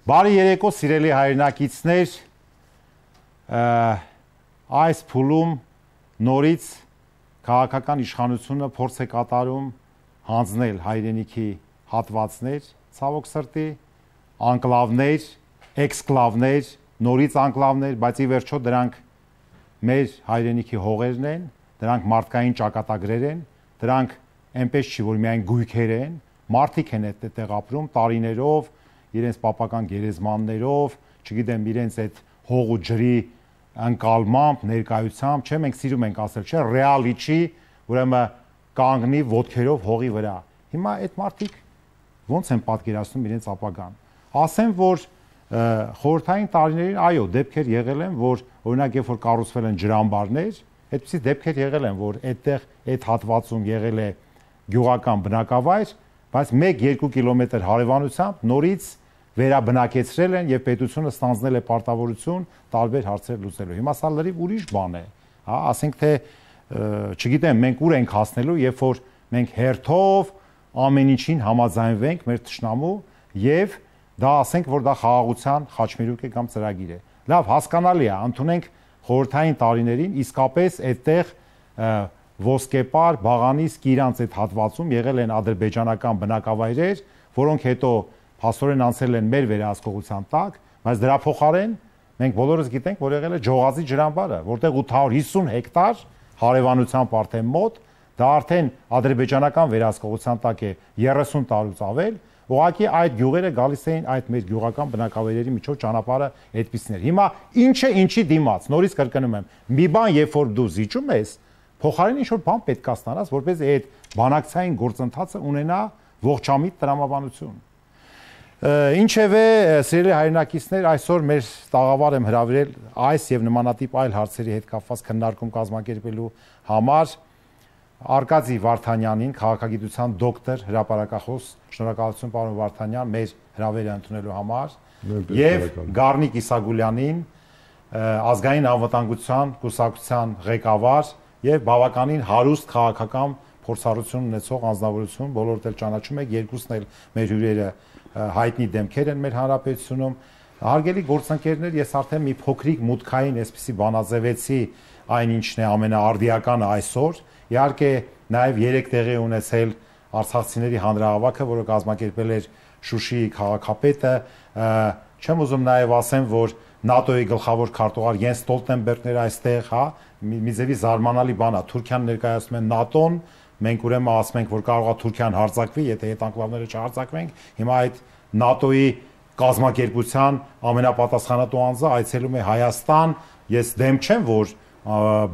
Բարի երեկո, սիրելի հայրենակիցներ, այս փուլում նորից քաղաքական իշխանությունը փորձ է կատարում հանձնել հայրենիքի հատվածներ, ցավոք սրտի, անկլավներ, էքսկլավներ, նորից անկլավներ, բայց ի վերջո դրանք մեր հայրենիքի հողերն են, դրանք մարդկային ճակատագրեր են, դրանք այնպես չի, որ միայն գույքեր են, մարդիկ են այդտեղ ապրում տարիներով, իրենց պապական գերեզմաններով, չգիտեմ, իրենց այդ հող ու ջրի ընկալմամբ, ներկայությամբ, չէ, մենք սիրում ենք ասել, չէ, ռեալիչի, ուրեմն կանգնի ոտքերով հողի վրա։ Հիմա այդ մարդիկ ո՞նց են պատկերացնում իրենց ապագան։ Ասեմ, որ խորհրդային տարիներին, այո, դեպքեր եղել են, որ օրինակ երբ որ կառուցվել են ջրամբարներ, այդպիսի դեպքեր եղել են, որ այդտեղ այդ հատվածում եղել է գյուղական բնակավայր, բայց 1-2 կիլոմետր հարևանությամբ նորից վերաբնակեցրել են եւ պետությունը ստանձնել է պարտավորություն տարբեր հարցեր լուծելու։ Հիմա սա լրիվ ուրիշ բան է, հա, ասենք թե չգիտեմ, մենք ուր ենք հասնելու, երբ որ մենք հերթով ամեն ինչին համաձայնվենք մեր թշնամու եւ դա ասենք, որ դա խաղաղության խաչմերուկ է կամ ծրագիր է։ Լավ, հասկանալի է, ընդունենք խորհրդային տարիներին իսկապես այդտեղ ոսկեպար, բաղանիս, կիրանց այդ հատվածում եղել են ադրբեջանական բնակավայրեր, որոնք հետո փաստորեն անցել են մեր վերահսկողության տակ, բայց դրա փոխարեն մենք բոլորս գիտենք, որ եղել է Ջողազի ջրամբարը, որտեղ 850 հեկտար հարևանությամբ արդեն մոտ, դա արդեն ադրբեջանական վերահսկողության տակ է 30 տարուց ավել, ուղղակի այդ գյուղերը գալիս էին այդ մեր գյուղական բնակավայրերի միջով ճանապարհը այդպիսներ։ Հիմա ինչը ինչի դիմաց, նորից կրկնում եմ, մի բան երբ որ դու զիջում ես, փոխարեն ինչ-որ բան պետք է ստանաս, որպեսզի այդ բանակցային գործընթացը ունենա ողջամիտ տրամաբանություն։ Ինչևէ, սիրելի հայրենակիցներ, այսօր մեր տաղավար եմ հրավիրել այս եւ նմանատիպ այլ հարցերի հետ կապված քննարկում կազմակերպելու համար Արկադի Վարդանյանին, քաղաքագիտության դոկտոր, հրապարակախոս, շնորհակալություն պարոն Վարդանյան, մեր հրավերը ընդունելու համար, եւ Գառնիկ Իսագուլյանին, ազգային անվտանգության կուսակցության ղեկավար եւ բավականին հարուստ քաղաքական փորձառություն ունեցող անձնավորություն, բոլորդ էլ ճանաչում եք, երկուսն էլ մեր հյուրերը հայտնի դեմքեր են մեր հանրապետությունում։ Հարգելի գործընկերներ, ես արդեն մի փոքրիկ մուտքային այսպիսի բանաձևեցի այն ինչն է ամենաարդիականը այսօր։ Իհարկե նաև 3 տեղի ունեցել արցախցիների հանրահավաքը, որը կազմակերպել էր Շուշիի քաղաքապետը, չեմ ուզում նաև ասեմ, որ ՆԱՏՕ-ի գլխավոր քարտուղար Յենս Ստոլտենբերգն էր այստեղ, հա, մի ձևի զարմանալի բան է, Թուրքիան ներկայացնում է ՆԱՏՕ-ն, մենք ուրեմն ասում ենք, որ կարող է Թուրքիան հարձակվի, եթե այդ անկլավները չհարձակվենք, հիմա այդ ՆԱՏՕ-ի կազմակերպության ամենապատասխանատու անձը այցելում է Հայաստան, ես դեմ չեմ, որ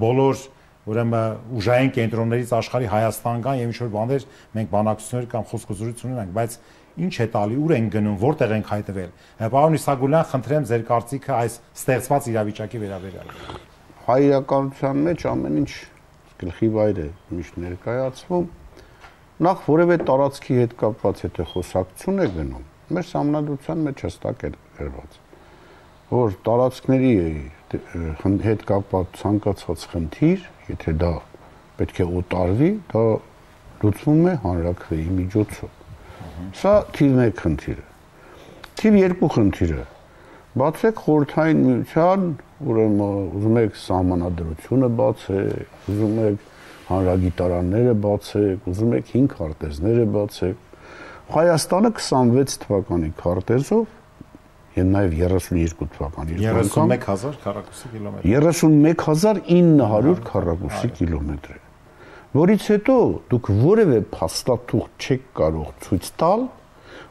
բոլոր ուրեմն ուժային կենտրոններից աշխարհի Հայաստան կան եւ ինչ-որ բաներ մենք բանակցություններ կամ խոսքազրույց ունենք, բայց ինչ է տալի, ուր են գնում, որտեղ ենք հայտնվել։ Պարոն Իսագուլյան, խնդրեմ ձեր կարծիքը այս ստեղծված իրավիճակի վերաբերյալ։ Հայրականության մեջ ամեն ինչ գլխի վայր է միշտ ներկայացվում։ Նախ որևէ տարածքի հետ կապված եթե խոսակցություն է գնում, մեր համանդրության մեջ հստակ է գրված, որ տարածքների հետ կապված ցանկացած խնդիր, եթե դա պետք է օտարվի, դա լուծվում է հանրաքվեի միջոցով։ Սա թիվ 1 խնդիրը։ Թիվ 2 խնդիրը։ Բացեք խորհրդային միության, ուրեմն ուզում եք սահմանադրությունը բացեք, ուզում եք հանրագիտարանները բացեք, ուզում եք 5 քարտեզները բացեք։ Հայաստանը 26 թվականի քարտեզով եւ նաեւ 32 թվականի 31000 քառակուսի կիլոմետր 31900 քառակուսի կիլոմետր է, որից հետո դուք որևէ փաստաթուղթ չեք կարող ցույց տալ,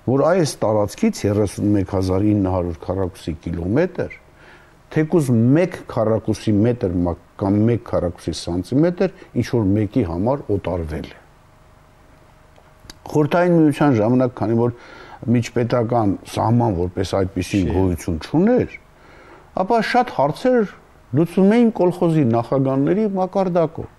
որ այս տարածքից 31900 քառակուսի կիլոմետր թեկուզ 1 քառակուսի մետր կամ 1 քառակուսի սանտիմետր ինչ որ մեկի համար օտարվել է։ Խորհրդային միության ժամանակ, քանի որ միջպետական սահման որպես այդպիսի գոյություն չուներ, ապա շատ հարցեր լուծվում էին կոլխոզի նախագահների մակարդակով։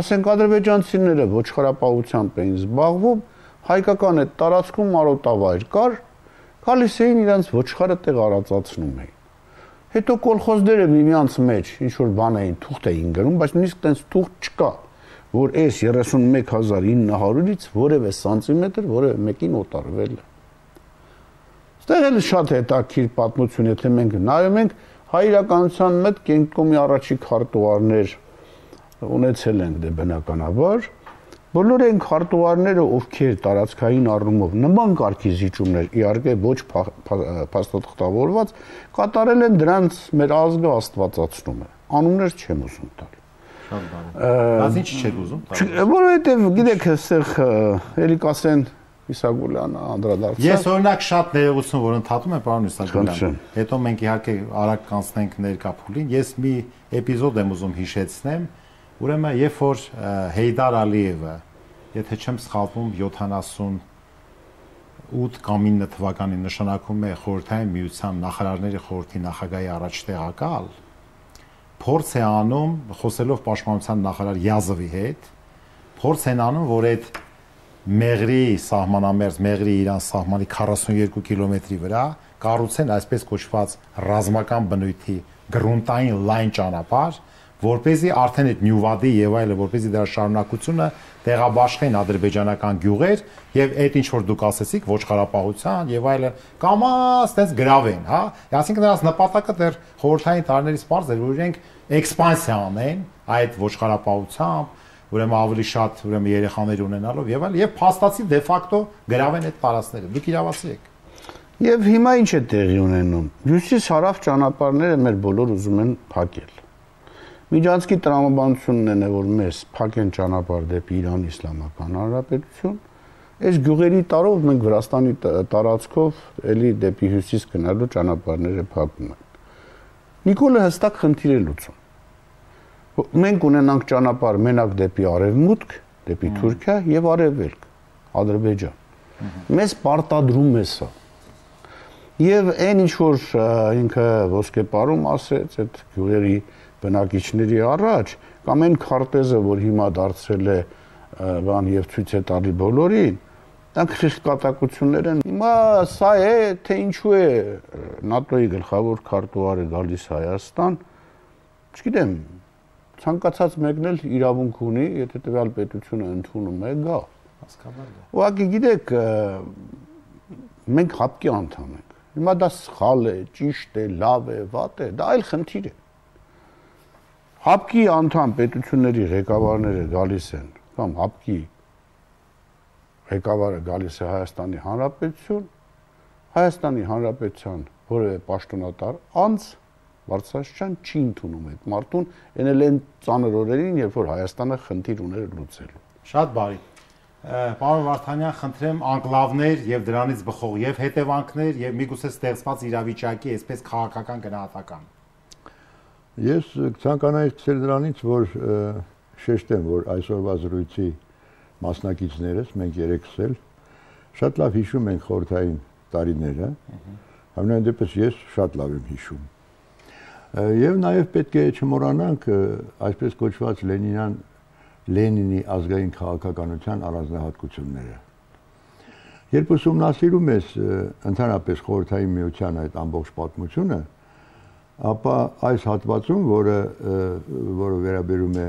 Ասենք ադրբեջանցիները ոչխարապահությամբ էին զբաղվում, հայկական այդ տարածքում արոտավայր կար, գալիս էին իրանց ոչխարը տեղ արածացնում էին։ Հետո կոլխոզները միմյանց մեջ ինչ որ բան էին, թուղթ էին գրում, բայց նույնիսկ տենց թուղթ չկա, որ այս 31900-ից որևէ սանտիմետր որևէ մեկին օտարվել է։ Այստեղ էլ շատ հետաքրքիր պատմություն, եթե մենք նայում ենք, հայ իրականության մեջ կենտրոնի առաջի քարտուղարներ ունեցել ենք դե բնականաբար, բոլոր այն քարտուղարները, ովքեր տարածքային առումով նման կարգի զիջումներ, իհարկե ոչ փաստաթղթավորված, կատարել են դրանց մեր ազգը աստվածացնում է։ Անուններ չեմ ուզում տալ։ Շատ բարի։ Բայց ինչ չեք ուզում տալ։ Որովհետև գիտեք, այստեղ էլի կասեն Իսագուլյանը անդրադարձավ։ Ես օրինակ շատ ներողություն, որ ընդհատում եմ, պարոն Իսագուլյան։ Հետո մենք իհարկե արագ կանցնենք ներկա փուլին։ Ես մի էպիզոդ եմ ուզում հիշեցնեմ, ուրեմն երբ որ Հեյդար Ալիևը, եթե չեմ սխալվում, 78 կամ 9 թվականին նշանակում է Խորհրդային Միության նախարարների խորհրդի նախագահի առաջտեղակալ, փորձ է անում, խոսելով պաշտպանության նախարար Յազովի հետ, փորձ են անում, որ այդ Մեղրի սահմանամերձ, Մեղրի Իրան սահմանի 42 կիլոմետրի վրա կառուցեն այսպես կոչված ռազմական բնույթի գրունտային լայն ճանապարհ, որպեսզի արդեն այդ Նյուվադի եւ այլը, որպեսզի դրա շարունակությունը տեղաբաշխեն ադրբեջանական գյուղեր եւ այդ ինչ որ դուք ասեցիք ոչխարապահության եւ այլը կամաց այդպես գրավեն, հա, այսինքն նրանց նպատակը դեռ խորհրդային տարիներից բարձ էր, որ իրենք էքսպանսիա անեն այդ ոչխարապահությամբ, ուրեմն ավելի շատ ուրեմն երեխաներ ունենալով եւ այլ եւ փաստացի դե ֆակտո գրավեն այդ տարածքները։ Դուք իրավացի եք։ Եվ հիմա ինչ է տեղի ունենում։ Հյուսիս-հարավ ճանապարհները մեր բոլոր ուզում են փակել։ Միջանցքի տրամաբանությունն է, որ մեզ փակեն ճանապարհ դեպի Իրան Իսլամական Հանրապետություն։ Այս գյուղերի տարով մենք Վրաստանի տարածքով էլի դեպի հյուսիս գնալու ճանապարհները փակում են։ Նիկոլը հստակ խնդիր է լուծում։ Մենք ունենանք ճանապարհ մենակ դեպի արևմուտք, դեպի Թուրքիա եւ արևելք, Ադրբեջան։ Մեզ պարտադրում է սա։ Եվ այն ինչ որ ինքը ոսկեպարում ասեց այդ գյուղերի բնակիչների առաջ, կամ այն քարտեզը, որ հիմա դարձել է բան եւ ցույց է տալի բոլորին, դրանք խիսկատակություններ են։ Հիմա սա է, թե ինչու է ՆԱՏՕ-ի գլխավոր քարտուղարը գալիս Հայաստան, չգիտեմ, ցանկացած մեկն էլ իրավունք ունի, եթե տվյալ պետությունը ընդունում է, գա։ Հասկանալի է։ Ուղղակի գիտեք, մենք ՀԱՊԿ-ի անդամ ենք։ Հիմա դա սխալ է, ճիշտ է, լավ է, վատ է, դա այլ խնդիր է։ ՀԱՊԿ-ի անդամ պետությունների ղեկավարները գալիս են, կամ ՀԱՊԿ-ի ղեկավարը գալիս է Հայաստանի Հանրապետություն, Հայաստանի Հանրապետության որևէ պաշտոնատար անձ Բարձրաստիճան չի ընդունում այդ մարդուն, էնել են ծանր օրերին, երբ որ Հայաստանը խնդիր ուներ լուծելու։ Շատ բարի։ Պարոն Վարդանյան, խնդրեմ անկլավներ եւ դրանից բխող եւ հետևանքներ եւ միգուցե ստեղծված իրավիճակի այսպես քաղաքական գնահատական։ Ես ցանկանայի սկսել դրանից, որ շեշտեմ, որ այսօրվա զրույցի մասնակիցներս, մենք երեքս էլ շատ լավ հիշում ենք խորհրդային տարիները, համենայն դեպս ես շատ լավ եմ հիշում։ Եվ նաև պետք է չմոռանանք այսպես կոչված Լենինի ազգային քաղաքականության առանձնահատկությունները։ Երբ ուսումնասիրում ես ընդհանրապես խորհրդային միության այդ ամբողջ պատմությունը, ապա այս հատվածում, որը վերաբերում է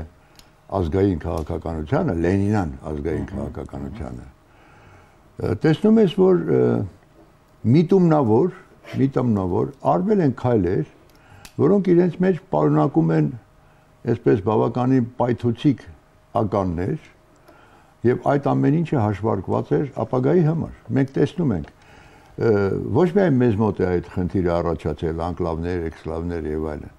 ազգային քաղաքականությանը, Լենինյան ազգային քաղաքականությանը, տեսնում ես, որ միտումնավոր արվել են քայլեր, որոնք իրենց մեջ պարունակում են այսպես բավականին պայթուցիկ ականներ եւ այդ ամեն ինչը հաշվարկված էր ապագայի համար։ Մենք տեսնում ենք ոչ միայն մեզ մոտ է այդ խնդիրը առաջացել, անկլավներ, էքսկլավներ եւ այլն։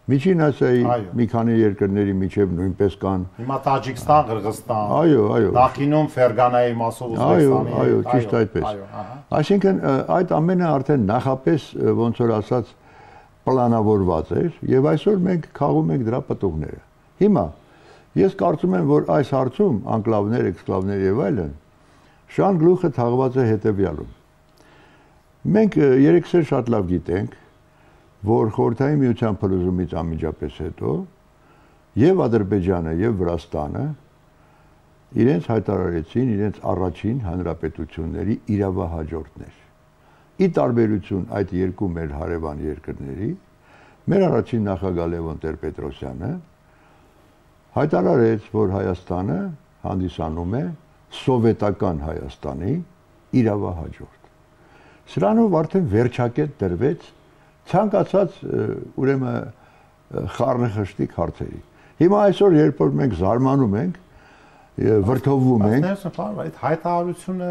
Միջին Ասիայի մի քանի երկրների միջև նույնպես կան։ Հիմա Տաջիկստան, Qırğızstan։ Այո։ Նախինում Ֆերգանայի մասով Ուզբեկստանի։ Այո, ճիշտ այդպես։ Այսինքն այդ ամենը արդեն նախապես ոնց որ ասած պլանավորված էր եւ այսօր մենք քաղում ենք դրա պտուղները։ Հիմա ես կարծում եմ, որ այս հարցում անկլավներ, էքսկլավներ եւ այլն շան գլուխը թաղված է հետեւյալում։ Մենք երեքս էլ շատ լավ գիտենք, որ խորհրդային միության փլուզումից անմիջապես հետո եւ Ադրբեջանը եւ Վրաստանը իրենց հայտարարեցին իրենց առաջին հանրապետությունների իրավահաջորդներ։ Ի տարբերություն այդ երկու մեր հարևան երկրների, մեր առաջին նախագահ Լևոն Տեր-Պետրոսյանը հայտարարեց, որ Հայաստանը հանդիսանում է սովետական Հայաստանի իրավահաջորդ։ Սրանով արդեն վերջակետ դրվեց ցանկացած ուրեմն խառնախշտիկ հարցերի։ Հիմա այսօր երբ որ մենք զարմանում ենք վրդովվում ենք, այդ հայտարարությունը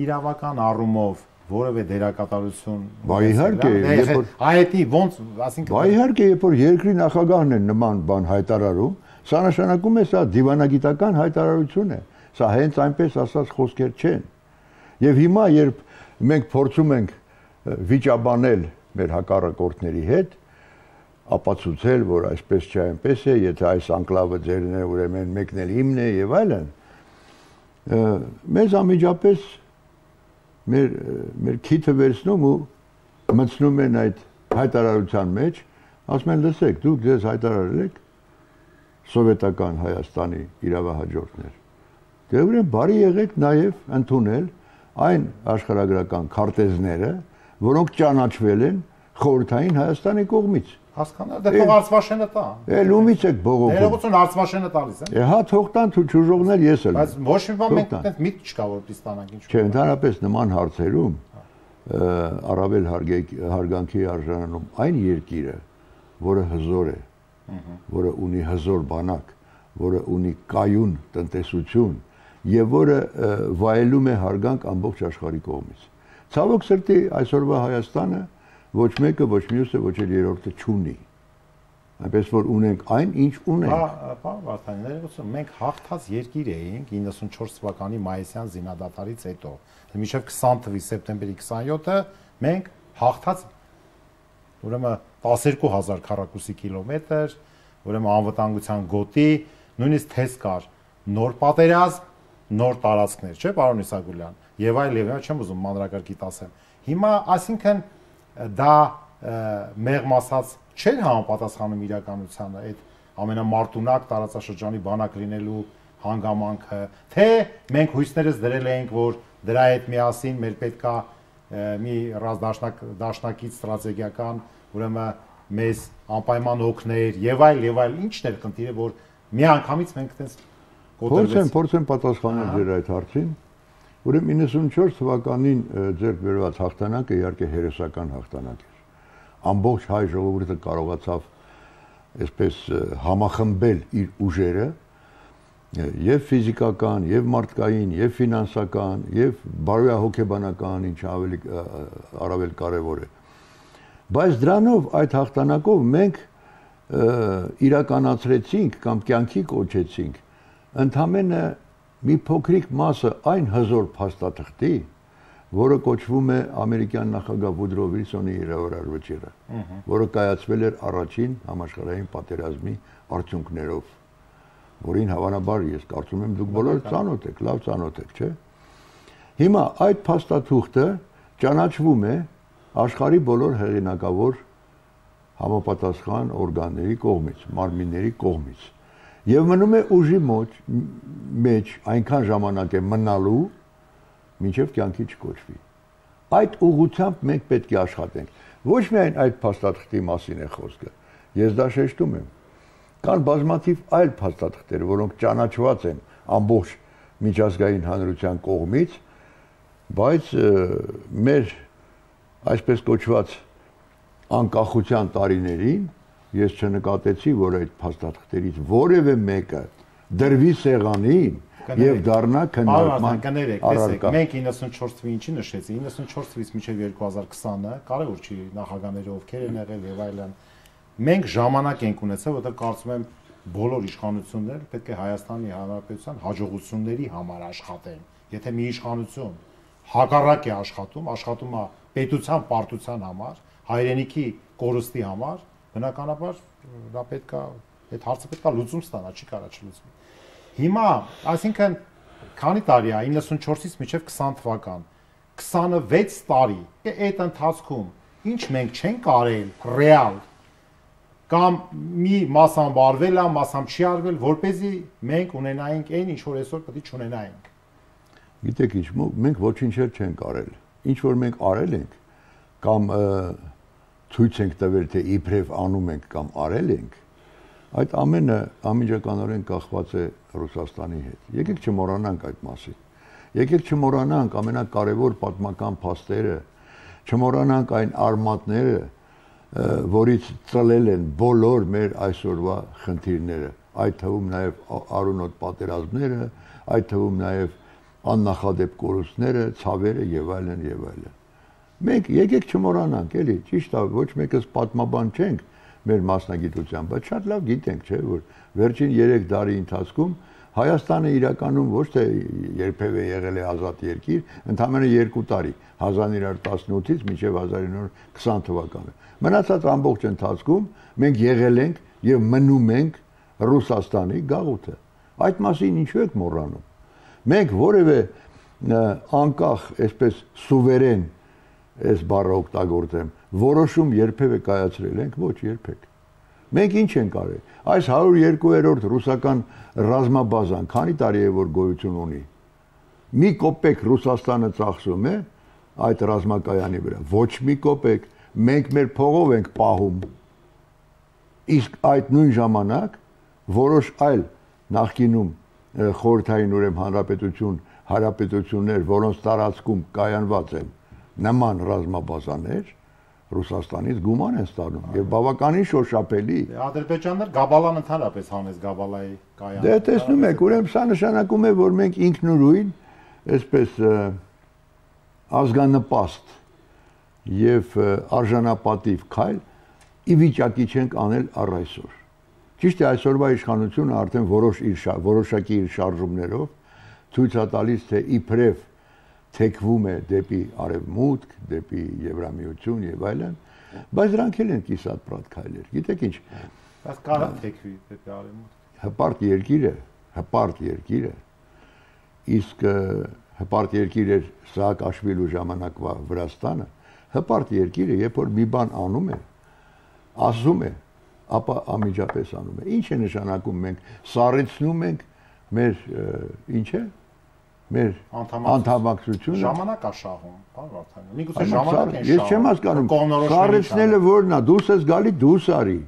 իրավական առումով որևէ դերակատարություն իհարկե, երբ որ հայտի ոնց, ասինքն իհարկե, երբ որ երկրի նախագահն է նման բան հայտարարում, սա նշանակում է սա դիվանագիտական հայտարարություն է։ Սա հենց այնպես ասած խոսքեր չեն։ Եվ հիմա երբ մենք փորձում ենք վիճաբանել մեր հակառակորդների հետ, ապացուցել, որ այսպես չէ, այնպես է, եթե այս անկլավը ձերն է, ուրեմն մեկն էլ իմն է եւ այլն, մեզ անմիջապես մեր քիթը վերցնում ու մտցնում են այդ հայտարարության մեջ, ասում են լսեք, դուք ձեզ հայտարարել եք սովետական Հայաստանի իրավահաջորդներ։ Դե ուրեմն բարի եղեք նաև ընդունել այն աշխարհագրական քարտեզները, որոնք ճանաչվել են խորհրդային Հայաստանի կողմից։ Հասկանա, դե թող Արցվաշենը տա։ Էլ ումից եք բողոքում։ Ներողություն Արցվաշենը տալիս են։ Հա, թող տան ճուժողներ ես էլ։ Բայց ոչ մի բան մենք այդպես միտք չկա որ պիստանանք ինչ։ Չէ, ընդհանրապես նման հարցերում առավել հարգանքի արժանանում այն երկիրը, որը հզոր է, որը ունի հզոր բանակ, որը ունի կայուն տնտեսություն եւ որը վայելում է հարգանք ամբողջ աշխարհի կողմից։ Ցավոք սրտի այսօրվա Հայաստանը ոչ մեկը, ոչ մյուսը, ոչ էլ երրորդը չունի։ Այնպես որ ունենք այն, ինչ ունենք։ Պարոն Վարդանյան, ներողություն, մենք հաղթած երկիր էինք 94 թվականի մայիսյան զինադատարից հետո։ Մինչև 20 թվականի սեպտեմբերի 27-ը մենք հաղթած ուրեմն 12000 քառակուսի կիլոմետր, ուրեմն անվտանգության գոտի, նույնիսկ թեզ կար նոր պատերազմ, նոր տարածքներ, չէ՞ պարոն Իսագուլյան։ Եվ այլ, չեմ ուզում մանրակարգիտ ասեմ։ Հիմա, այսինքն դա մեղմ ասած չէր համապատասխանում իրականությանը այդ ամենամարտունակ տարածաշրջանի բանակ լինելու հանգամանքը, թե մենք հույսներս դրել էինք, որ դրա հետ միասին մեր պետքա մի դաշնակից ստրատեգիական, ուրեմն մեզ անպայման օգներ եւ այլ, ինչն էր խնդիրը, որ մի անգամից մենք այդպես կոտրվեցինք։ Փորձեմ պատասխանել ձեր այդ հարցին։ Ուրեմն 94 թվականին ձեռք բերված հաղթանակը իհարկե հերոսական հաղթանակ էր։ Ամբողջ հայ ժողովուրդը կարողացավ այսպես համախմբել իր ուժերը եւ ֆիզիկական, եւ մարդկային, եւ ֆինանսական, եւ բարոյահոգեբանական, ինչ առավել կարեւոր է։ Բայց դրանով այդ հաղթանակով մենք իրականացրեցինք կամ կյանքի կոչեցինք ընդամենը մի փոքրիկ մասը այն հզոր փաստաթղթի, որը կոչվում է ամերիկյան նախագահ Վուդրո Վիլսոնի իրավարար վճիռը, որը կայացվել էր առաջին համաշխարհային պատերազմի արդյունքներով, որին հավանաբար ես կարծում եմ դուք բոլորը ծանոթ եք, լավ ծանոթ եք, չէ՞։ Հիմա այդ փաստաթուղթը ճանաչվում է աշխարհի բոլոր հեղինակավոր համապատասխան օրգանների կողմից, մարմինների կողմից։ Եվ մնում է ուժի մեջ այնքան ժամանակ է մնալու, մինչև կյանքի չկոչվի։ Այդ ուղղությամբ մենք պետք է աշխատենք։ Ոչ միայն այդ փաստաթղթի մասին է խոսքը։ Ես դա շեշտում եմ։ Կան բազմաթիվ այլ փաստաթղթեր, որոնք ճանաչված են ամբողջ միջազգային հանրության կողմից, բայց մեր այսպես կոչված անկախության տարիներին ես չնկատեցի, որ այդ փաստաթղթերից որևէ մեկը դրվի սեղանին եւ դառնա քննարկման առարկա։ Մենք 94 թվականին ինչի նշեցի, 94 թվականից մինչև 2020-ը, կարևոր չի նախագահները ովքեր են եղել եւ այլն։ Մենք ժամանակ ենք ունեցել, որտեղ կարծում եմ բոլոր իշխանությունները պետք է Հայաստանի Հանրապետության հաջողությունների համար աշխատեն։ Եթե մի իշխանություն հակառակ է աշխատում է պետության պարտության համար, հայրենիքի կորստի համար, բնականաբար դա պետքա այդ հարցը պետքա լուծում ստանա, չի կարա չլուծվի։ Հիմա, այսինքն քանի տարի է 94-ից մինչև 20 թվական, 26 տարի, այդ ընթացքում ինչ մենք չենք արել ռեալ կամ մի մասամբ արվել է, մասամբ չի արվել, որպեսզի մենք ունենայինք այն, ինչ որ այսօր պետք է չունենայինք։ Գիտեք ինչ, մենք ոչինչ չենք արել։ Ինչ որ մենք արել ենք կամ ցույց ենք տվել, թե իբրև անում ենք կամ արել ենք, այդ ամենը անմիջականորեն կախված է Ռուսաստանի հետ։ Եկեք չմոռանանք այդ մասին։ Եկեք չմոռանանք ամենակարևոր պատմական փաստերը, չմոռանանք այն արմատները, որից ծլել են բոլոր մեր այսօրվա խնդիրները, այդ թվում նաև արունոտ պատերազմները, այդ թվում նաև աննախադեպ կորուստները, ցավերը եւ այլն եւ այլն։ Մենք եկեք չմոռանանք, էլի, ճիշտ է, ոչ մեկս պատմաբան չենք մեր մասնագիտությամբ, բայց շատ լավ գիտենք, չէ, որ վերջին 3 տարի ընթացքում Հայաստանը իրականում ոչ թե երբևէ եղել է ազատ երկիր, ընդամենը 2 տարի, 1918-ից մինչև 1920 թվականը։ Մնացած ամբողջ ընթացքում մենք եղել ենք եւ մնում ենք Ռուսաստանի գաղութը։ Այդ մասին ինչու եք մոռանում։ Մենք որևէ անկախ, այսպես սուվերեն, այս բառը օգտագործեմ, որոշում երբևէ կայացրել ենք, ոչ երբեք։ Մենք ինչ ենք արել։ Այս 102-րդ ռուսական ռազմաբազան քանի տարի է որ գոյություն ունի։ Մի կոպեկ Ռուսաստանը ծախսում է այդ ռազմակայանի վրա։ Ոչ մի կոպեկ, մենք մեր փողով ենք պահում։ Իսկ այդ նույն ժամանակ որոշ այլ նախկինում խորհրդային ուրեմն հանրապետություններ, որոնց տարածքում կայանված են նման ռազմաբազաներ, Ռուսաստանից գուման են ստանում եւ բավականին շոշափելի։ Ադրբեջանն Գաբալան ընդհանրապես հանեց Գաբալայի կայանը։ Դե տեսնում եք, ուրեմն սա նշանակում է, որ մենք ինքնուրույն, այսպես ազգանպաստ եւ արժանապատիվ քայլ ի վիճակի չենք անել առ այսօր։ Ճիշտ է, այսօրվա իշխանությունը արդեն որոշակի իր շարժումներով ցույց է տալիս, թե իբրև թեքվում է դեպի արևմուտք, դեպի Եվրամիություն եւ այլն, բայց դրանք էլ են կիսատ-պրատ քայլեր։ Գիտեք ինչ։ Բայց կարա թեքվի դեպի արևմուտք։ Հպարտ երկիր է։ Իսկ հպարտ երկիր էր Սաակաշվիլու ժամանակվա Վրաստանը, հպարտ երկիր է, երբ որ մի բան անում է, ասում է, ապա անմիջապես անում է։ Ինչ է նշանակում մենք սառեցնում ենք մեր ինչ է մեր անդամակցությունը ժամանակ է շահում, պարոն Վարդանյան։ Միգուցե ժամանակ են շահում։ Ես չեմ հասկանում։ Սառեցնելը որն է, դուս ես գալի, դուս արի։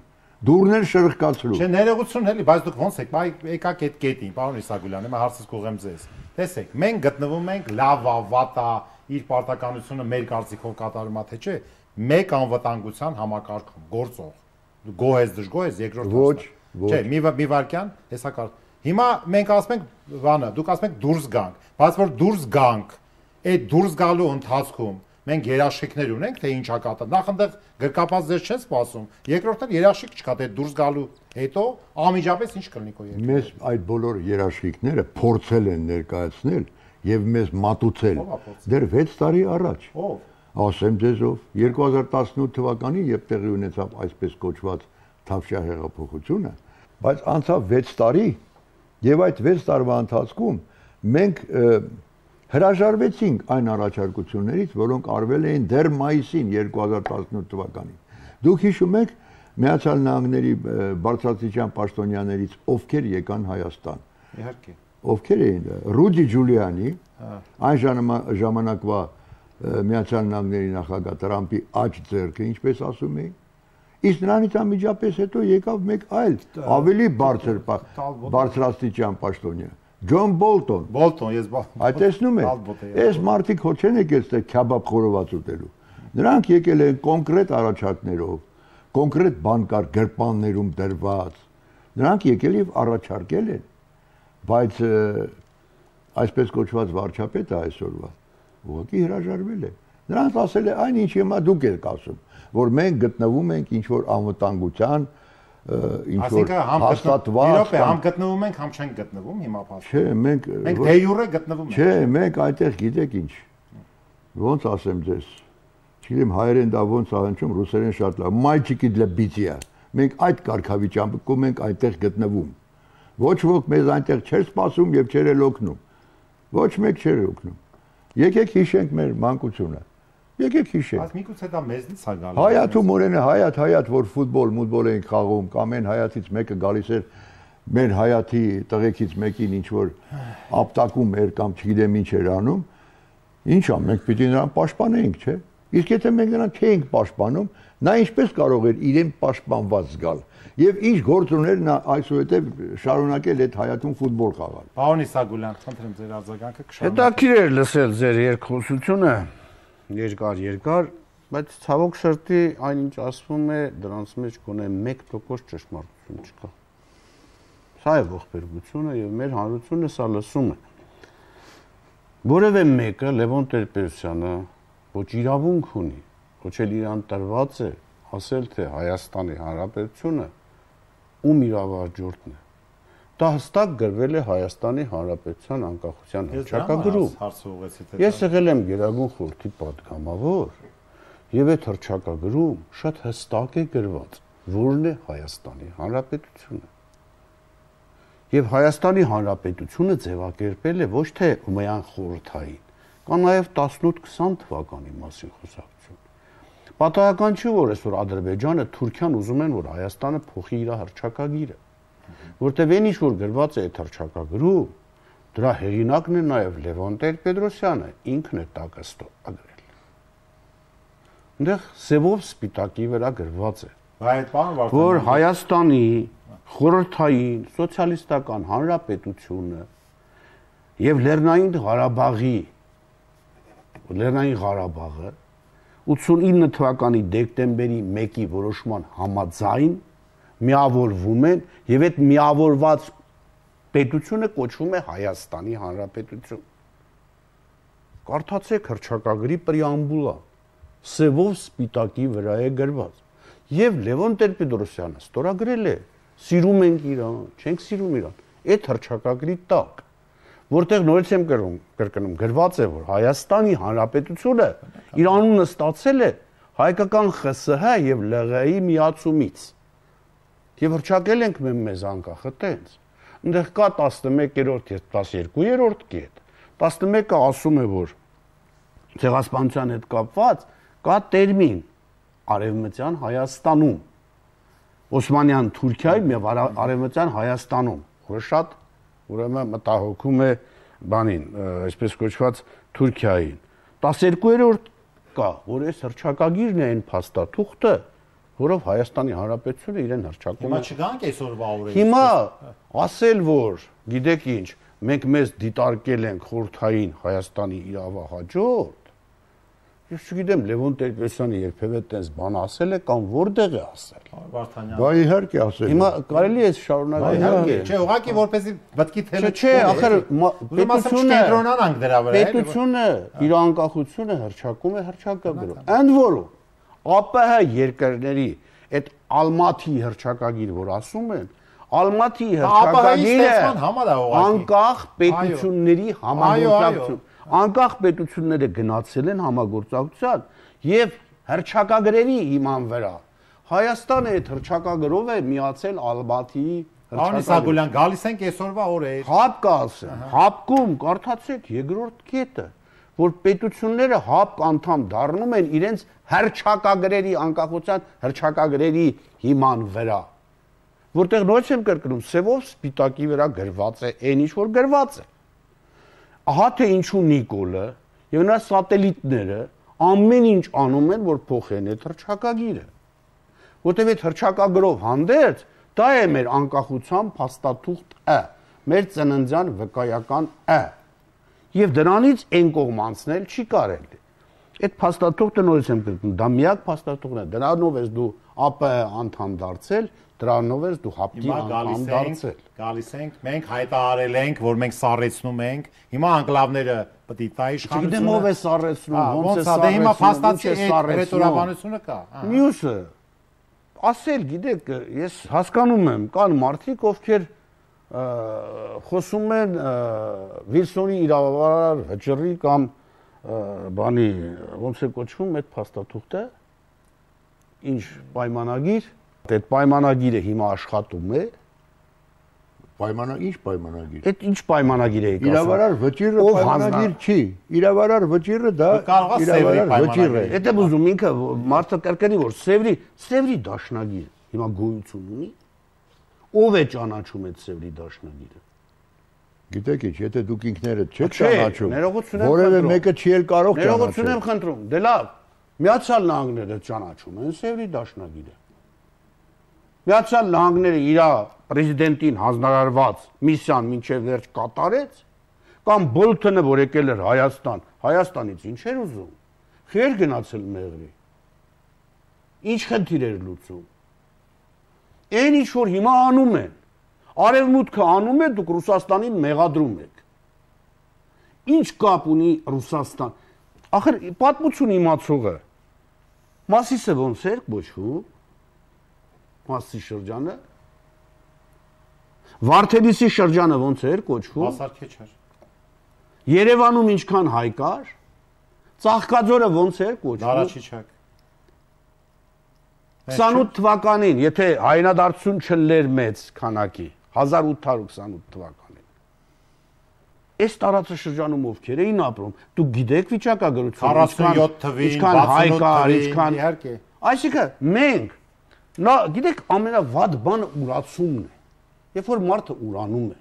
Դուրներ շրխկացրու։ Չէ, ներողություն էլի, բայց դուք ոնց եք, եկաք այդ կետին, պարոն Իսագուլյան, հիմա հարցս կուղեմ ձեզ։ Տեսեք, մենք գտնվում ենք լավա, վատա, իր պարտականությունը մեր կարծիքով կատարում է, թե չէ, մեկ անվտանգության համակարգում գործող։ Գոհ ես, դժգոհ ես, երկրորդ ոչ։ Չէ, մի վարքյան, հեսա կար։ Հիմա մենք ասում ենք, բանը, դուք ասում եք դուրս գանք, բայց որ դուրս գանք, այդ դուրս գալու ընթացքում մենք երաշխիքներ ունենք, թե ինչ ակատը։ Նախ այնտեղ գրկապած ձեզ չեն սպասում։ Երկրորդն երաշխիք չկա, թե դուրս գալու հետո անմիջապես ինչ կլինի քո երկրում։ Մեզ այդ բոլոր երաշխիքները փորձել են ներկայացնել եւ մեզ մատուցել դեռ 6 տարի առաջ։ Ով։ Ասեմ ձեզ ով 2018 թվականին, երբ տեղի ունեցավ այսպես կոչված Թավշյա հեղափոխությունը, բայց անցավ 6 տարի եւ այդ 6 տարվա ընթացքում մենք հրաժարվեցինք այն առաջարկություններից, որոնք արվել էին դեռ մայիսին 2018 թվականին։ Դուք հիշում եք Միացյալ Նահանգների բարձրաստիճան պաշտոնյաներից ովքեր եկան Հայաստան։ Իհարկե։ Ովքեր էին Ռուդի Ջուլիանի, այն ժամանակվա Միացյալ Նահանգների նախագահ Տրամպի աջ ձեռքը, ինչպես ասում էին։ Իսկ նրանից անմիջապես հետո եկավ մեկ այլ ավելի բարձրաստիճան պաշտոնյա Ջոն Բոլտոն։ Բոլտոն, ես Այդ տեսնում եք, այս մարդիկ հո չեն եկել ստե քյաբաբ խորոված ուտելու։ Նրանք եկել են կոնկրետ առաջարկներով, կոնկրետ բանկար գրպաններում դրված։ Նրանք եկել եւ առաջարկել են, բայց այսպես կոչված վարչապետը այսօրվա ուղղակի հրաժարվել է։ Նրանց ասել է այն ինչ հիմա դուք եք ասում, որ մենք գտնվում ենք ինչ որ անվտանգության ինչ որ հաստատված համ գտնվում ենք, համ չենք գտնվում հիմա փաստորեն։ Չէ, մենք դե յուրե գտնվում ենք։ Չէ, մենք այդտեղ գիտեք ինչ։ Ոնց ասեմ ձեզ։ Չգիտեմ հայերեն դա ոնց ահանջում, ռուսերեն շատ լավ։ Մայչիկի դլա բիցիա։ Մենք այդ կարգավիճակում ենք այդտեղ գտնվում։ Ոչ ոք մեզ այնտեղ չէր սպասում եւ չէր էլ օգնում։ Ոչ մեկ չէր օգնում։ Եկեք հիշենք մեր մանկությունը։ Եկեք հիշենք։ Բայց միգուցե դա մեզնից է գալու։ Հայաթում օրենը հայաթ, որ ֆուտբոլ էին խաղում, կամ այն հայաթից մեկը գալիս էր մեր հայաթի տղեկից մեկին ինչ որ ապտակում էր կամ չգիտեմ ինչ էր անում, ինչ ա, մենք պիտի նրան պաշտպանեինք, չէ՞։ Իսկ եթե մենք նրան չէինք պաշտպանում, նա ինչպես կարող էր իրեն պաշտպանված զգալ։ Եվ ինչ գործ ուներ նա այսուհետև շարունակել այդ հայաթում ֆուտբոլ խաղալ։ Պարոն Իսագուլյան, խնդրեմ ձեր արձագանքը կշարունակեք։ Հետաքրքիր էր լսել ձեր երկխոսությունը, երկար, Բայց ցավոք սրտի այնինչ ասվում է դրանց մեջ գոնե 1% ճշմարտություն չկա։ Սա է ողբերգությունը եւ մեր հանրությունը սա լսում է։ Որևէ մեկը Լևոն Տեր-Պետրոսյանը ոչ իրավունք ունի, ոչ էլ իրան տրված է ասել թե Հայաստանի Հանրապետությունը ում իրավարջորդն է։ Դա հստակ գրվել է Հայաստանի Հանրապետության անկախության հռչակագրում։ Ես եղել եմ Գերագույն խորհրդի պատգամավոր եւ այդ հռչակագրում շատ հստակ է գրված, որն է Հայաստանի Հանրապետությունը։ Եվ Հայաստանի Հանրապետությունը ձևակերպել է ոչ թե միայն խորհրդային, կա նաեւ 18-20 թվականի մասին խոսակցություն։ Պատահական չի, որ այսօր Ադրբեջանը, Թուրքիան ուզում են, որ Հայաստանը փոխի իր հռչակագիրը, որտեղ այն ինչ որ գրված է այդ հռչակագրում, դրա հեղինակն է նաեւ Լևոն Տեր-Պետրոսյանը, ինքն է տակը ստորագրել։ Այնտեղ սևով սպիտակի վրա գրված է, որ Հայաստանի խորհրդային սոցիալիստական հանրապետությունը եւ Լեռնային Ղարաբաղը 89 թվականի դեկտեմբերի 1-ի որոշման համաձայն միավորվում են եւ այդ միավորված պետությունը կոչվում է Հայաստանի Հանրապետություն։ Կարդացեք հռչակագրի պրեամբուլը, սևով սպիտակի վրա է գրված։ Եվ Լևոն Տեր-Պետրոսյանը ստորագրել է, սիրում ենք իրան, չենք սիրում իրան, այդ հռչակագրի տակ, որտեղ նորից եմ կրկնում, գրված է, որ Հայաստանի Հանրապետությունը իր անունը ստացել է հայկական ԽՍՀ եւ ԼՂՀ-ի միացումից։ Եվ հռչակել ենք մեզ անկախը տենց։ Այնտեղ կա 11-րդ եւ 12-րդ կետ։ 11-ը ասում է, որ ցեղասպանության հետ կապված կա տերմին Արևմտյան Հայաստանում, Օսմանյան Թուրքիայում եւ Արևմտյան Հայաստանում, որը շատ ուրեմն մտահոգում է բանին, այսպես կոչված Թուրքիային։ 12-րդ կա, որ այս հռչակագիրն է այն փաստաթուղթը, որով Հայաստանի Հանրապետությունը իրեն հռչակում է։ Հիմա չգանք այսօրվա օրերից։ Հիմա ասել, որ գիտեք ինչ, մենք մեզ դիտարկել ենք խորհրդային Հայաստանի իրավահաջորդ, ես չգիտեմ Լևոն Տեր-Պետրոսյանը երբևէ տես բան ասել է կամ որտեղ է ասել։ Բա իհարկե ասել։ Հիմա կարելի է շարունակել։ Իհարկե, չէ, ուղղակի որպեսի մտքի թելը չէ, ախր կենտրոնանանք դրա վրա։ Պետությունը իր անկախությունը հռչակում է հռչակագրով։ Ընդ որում ԱՊՀ երկրների այդ Ալմաթի հռչակագիր, որ ասում են, Ալմաթի հռչակագիրը անկախ պետությունների համագործակցություն, անկախ պետությունները գնացել են համագործակցության եւ հռչակագրերի հիման վրա Հայաստանը այդ հռչակագրով է միացել Ալմաթիի Պարոն Իսագուլյան, գալիս ենք այսօրվա օրեր։ Հապկ ասեմ, հապկում կարդացեք երկրորդ կետը, որ պետությունները հապկ անդամ դառնում են իրենց հռչակագրերի անկախության հռչակագրերի հիման վրա, որտեղ նույնիսկ եմ կրկնում, սևով սպիտակի վրա գրված է այն ինչ որ գրված է։ Ահա թե ինչու Նիկոլը եւ նրա սատելիտները ամեն ինչ անում են, որ փոխեն այդ հռչակագիրը, որտեղ այդ հռչակագրով հանդերձ դա է մեր անկախության փաստաթուղթը, մեր ծննդյան վկայական եւ դրանից այն կողմ անցնել չի կարելի։ Այդ փաստաթուղթը նորից եմ կրկնում, դա միակ փաստաթուղթն է, դրանով ես դու ԱՊՀ անդամ դարձել, դրանով ես դու հապկի անդամ դարձել։ Գալիս ենք, մենք հայտարարել ենք, որ մենք սառեցնում ենք, հիմա անկլավները պետք է տա իշխանությունը։ Չգիտեմ ով է սառեցնում, ոնց է սառեցնում, հիմա փաստացի է ռետորաբանությունը կա։ Մյուսը ասել, գիտեք, ես հասկանում եմ, կան մարդիկ, ովքեր խոսում են Վիլսոնի իրավարար վճռի կամ բանի ոնց է կոչվում այդ փաստաթուղթը, ինչ պայմանագիր, այդ պայմանագիրը հիմա աշխատում է, Ինչ պայմանագիր։ Այդ ինչ պայմանագիր է եկած։ Իրավարար վճիռը պայմանագիր չի։ Իրավարար վճիռը դա իրավարար վճիռ է։ Դա ուզում ինքը մարդը կրկնի որ Սևրի դաշնագիր հիմա գոյություն ունի։ Ով է ճանաչում այդ Սևրի դաշնագիրը։ Գիտեք ինչ, եթե դուք ինքներդ չեք ճանաչում, ներողություն եմ որևէ մեկը չի էլ կարող ճանաչել։ Ներողություն եմ խնդրում։ Դե լավ, Միացյալ Նահանգները ճանաչում են Սևրի դաշնագիրը։ Միացյալ Նահանգները իր պրեզիդենտին հանձնարարված միսիան մինչև վերջ կատարեց, կամ Բոլթոնը, որ եկել էր Հայաստանից ինչ էր ուզում։ Խեր գնացել մեղրի։ Ինչ խնդիր էր լուծում։ Այն ինչ որ հիմա անում են, արևմուտքը անում է, դուք Ռուսաստանին մեղադրում եք։ Ինչ կապ ունի Ռուսաստան։ Ախր պատմություն իմացողը Մասիսը ոնց էր կոչվում։ Մասիսի շրջանը։ Վարդենիսի շրջանը ոնց էր կոչվում։ Հասարքեչ էր։ Երևանում ինչքան հայ կար։ Ծաղկաձորը ոնց էր կոչվում։ Նարաչիչակ։ 28 թվականին, եթե հայնադարձություն չլեր մեծ քանակի, 1828 թվականին։ Այս տարածաշրջանում ովքեր էին ապրում, դուք գիտեք վիճակագրությունը, 47 թվին, ինչքան հայ 68 կար, թվին, ինչքան իհարկե։ Այսինքն մենք նա գիտեք ամենավատ բանը ուրացումն է։ Երբ որ մարդը ուրանում է,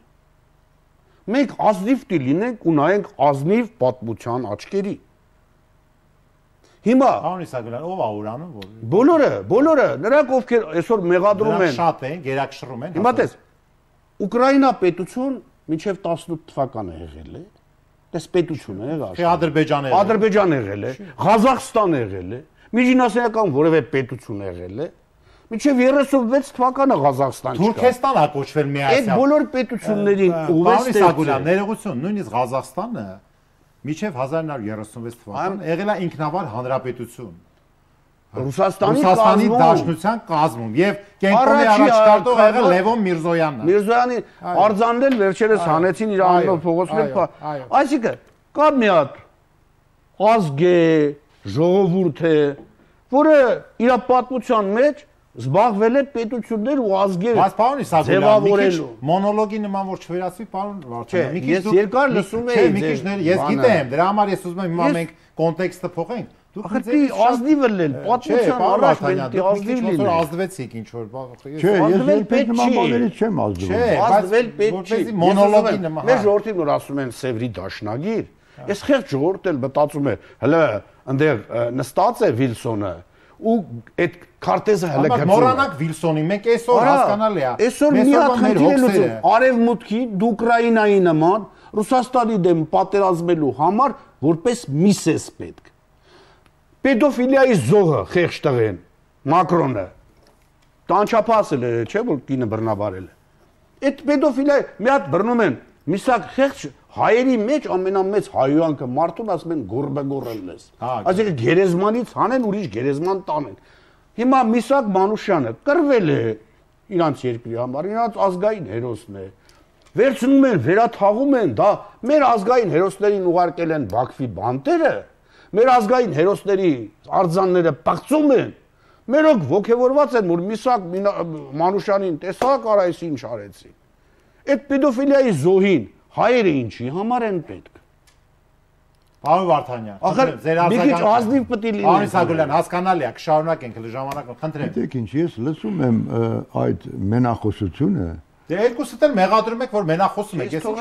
մենք ազնիվ կլինենք ու նայենք ազնիվ պատմության աչքերի։ Հիմա Պարոն Իսագլյան, ով է ուրանում որ։ Բոլորը, նրանք ովքեր այսօր մեղադրում են։ Շատ են, գերակշռում են։ Հիմա տես, Ուկրաինա պետություն մինչև 18 թվականը եղել է։ Տես պետություն է եղել։ Թե Ադրբեջանը եղել։ Ադրբեջան եղել է, Ղազախստան եղել է, միջինասիական որևէ պետություն եղել է։ Մինչև 36 թվականը Ղազախստան չկա։ Թուրքեստան է կոչվել միասին։ Այդ բոլոր պետություններին Պարոն Իսագլյան, ներողություն, նույնիսկ Ղազախստանը մինչև 1936 թվականը եղել է ինքնավար հանրապետություն։ Ռուսաստանի Դաշնության կազմում եւ կենտրոնի առաջնորդող եղել Լևոն Միրզոյանն։ Միրզոյանի արձանն էլ վերջերս հանեցին իր անունով փողոցներ։ Այսինքն կա մի հատ ազգ է, ժողովուրդ է, որը իր պատմության մեջ զբաղվել է պետություններ ու ազգեր։ Բայց պարոն Իսագլյան, մի քիչ մոնոլոգի նման որ չվերածվի, պարոն Վարդանյան, մի քիչ ես երկար լսում եի։ Մի քիչ ես գիտեմ, դրա համար ես ուզում եմ հիմա մենք կոնտեքստը փոխենք։ Ախր դի ազնիվ էլ պատմության առաջ մենք դի ազնիվ լինենք։ Ազդվեցիք ինչ որ Չէ, ես երբեք նման բաներից չեմ ազդվում։ Ազդվել պետք չի։ Մոնոլոգի նման։ Մեր ժողովրդին որ ասում են Սևրի դաշնագիր, այս խեղճ ժողովուրդն էլ մտածում է, հələ այնտեղ նստած է Վիլսոնը ու այդ քարտեզը հələ գծում է։ Մոռանանք Վիլսոնի, մենք այսօր հասկանալի է։ Այսօր մի հատ խնդիր է լուծում։ Արևմուտքի Ուկրաինայի նման Ռուսաստանի դեմ պատերազմելու համար որպես միս է պետք։ Պետոֆիլիայի զոհը խեղճ տղեն Մակրոնը տանչափասել է, չէ՞ որ կինը բռնաբարել է։ Այդ պետոֆիլիա մի հատ բռնում են, միսակ խեղճ հայերի մեջ ամենամեծ հայոյանքը մարդուն ասում են գորբեգորելն ես։ Այսինքն գերեզմանից հանեն ուրիշ գերեզման տանեն։ Հիմա Միսակ Մանուշյանը կռվել է իրանց երկրի համար, իրանց ազգային հերոսն է։ Վերցնում են, վերաթաղում են, դա մեր ազգային հերոսներին ուղարկել են Բաքվի բանտերը։ Մեր ազգային հերոսների արձանները պղծում են։ Մերոք ողջևորված են, որ Միսակ Մանուշյանին տեսակ արայս ինչ արեցին։ Այդ պեդոֆիլիայի զոհին հայերը ինչի համար են պետք։ Պարոն Վարդանյան, ախր ձեր մի քիչ ազնիվ պետք է լինի։ Պարոն Իսագլյան, հասկանալի է, կշարունակենք ժամանակը, խնդրեմ։ Գիտեք ինչ, ես լսում եմ այդ մենախոսությունը։ Դե երկուսդ էլ մեղադրում եք, որ մենախոսում եք, ես ինչ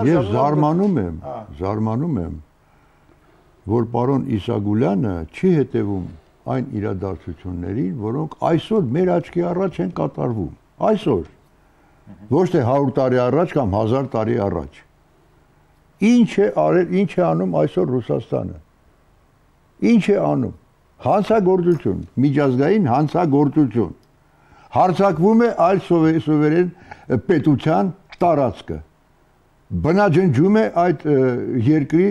Ես զարմանում եմ, որ պարոն Իսագուլյանը չի հետևում այն իրադարձություններին, որոնք այսօր մեր աչքի առաջ են կատարվում։ Այսօր ոչ թե 100 տարի առաջ կամ 1000 տարի առաջ։ Ինչ է արել, ինչ է անում այսօր Ռուսաստանը։ Ինչ է անում։ Հանցագործություն, միջազգային հանցագործություն։ Հարձակվում է այլ սովերեն պետության տարածքը։ Բնաջնջում է այդ երկրի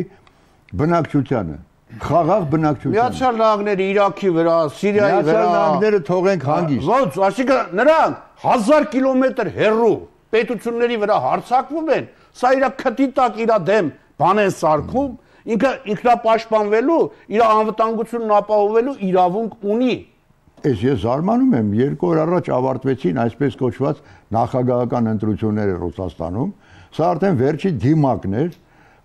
բնակչությանը, խաղաղ բնակչությանը։ Միացյալ Նահանգները Իրաքի վրա, Սիրիայի վրա, Միացյալ Նահանգները թողենք հանգիստ։ Ոնց, այսինքն նրանք 1000 կիլոմետր հեռու պետությունների վրա հարձակվում են, սա իր քթի տակ իր դեմ բան են սարքում, ինքը ինքնապաշտպանվելու, իր անվտանգությունն ապահովելու իրավունք ունի։ Ես զարմանում եմ, 2 օր առաջ ավարտվեցին այսպես կոչված նախագահական ընտրությունները Ռուսաստանում, սա արդեն վերջի դիմակն էր,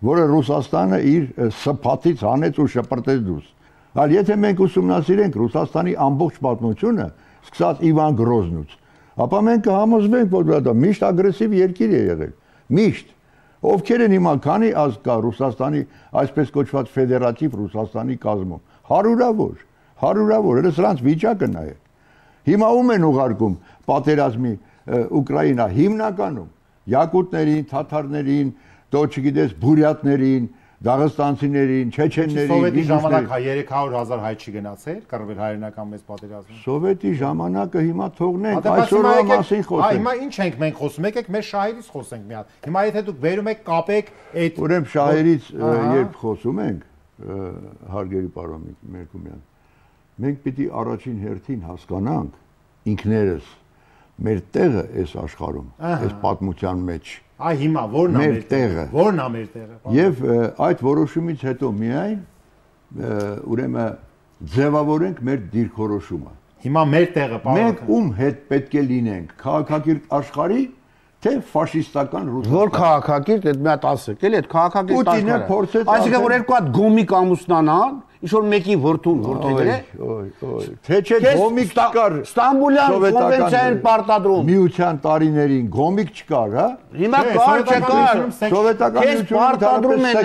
որը Ռուսաստանը իր սփաթից հանեց ու շպրտեց դուրս։ Այլ եթե մենք ուսումնասիրենք Ռուսաստանի ամբողջ պատմությունը, սկսած Իվան Գրոզնուց, ապա մենք կհամոզվենք, որ դա միշտ ագրեսիվ երկիր է եղել։ Միշտ։ Ովքեր են հիմա քանի ազգ կա Ռուսաստանի այսպես կոչված ֆեդերատիվ Ռուսաստանի կազմում։ Հարյուրավոր, elə սրանց վիճակը նայեք։ Հիմա ում են ուղարկում պատերազմի Ուկրաինա հիմնականում յակուտներին, թաթարներին, դո չգիտես բուրյատներին, Դաղստանցիներին, չեչեններին, Սովետի ժամանակ 300,000 հայ չի գնացել, կռվել հայրենական մեծ պատերազմում։ Սովետի ժամանակը հիմա թողնենք, այսօրվա մասին խոսենք։ Հիմա ինչ ենք մենք խոսում, եկեք մեր շահերից խոսենք մի հատ։ Հիմա եթե դուք վերում եք կապեք այդ Ուրեմն շահերից երբ խոսում ենք, հարգելի պարոն Մերկումյան, մենք պիտի առաջին հերթին հասկանանք ինքներս մեր տեղը այս աշխարհում, այս պատմության մեջ։ Այ հիմա ո՞րն է մեր տեղը։ Ո՞րն է մեր տեղը։ Եվ այդ որոշումից հետո միայն ուրեմն ձևավորենք մեր դիրքորոշումը։ Հիմա մեր տեղը, պարոն։ Մենք ում հետ պետք է լինենք, քաղաքակիրթ աշխարհի թե ֆաշիստական Ռուսաստանի։ Որ քաղաքակիրթ, այդ մի հատ ասեք, էլի այդ քաղաքակիրթ Պուտինը փորձեց այսինքն որ երկու հատ գոմիկ ամուսնանան, ինչ որ մեկի որդուն որդեգրե։ Թե չէ գոմիկ չկար Ստամբուլյան կոնվենցիային պարտադրում։ Միության տարիներին գոմիկ չկար, հա։ Հիմա կար, չկար։ Սովետական պարտադրում են,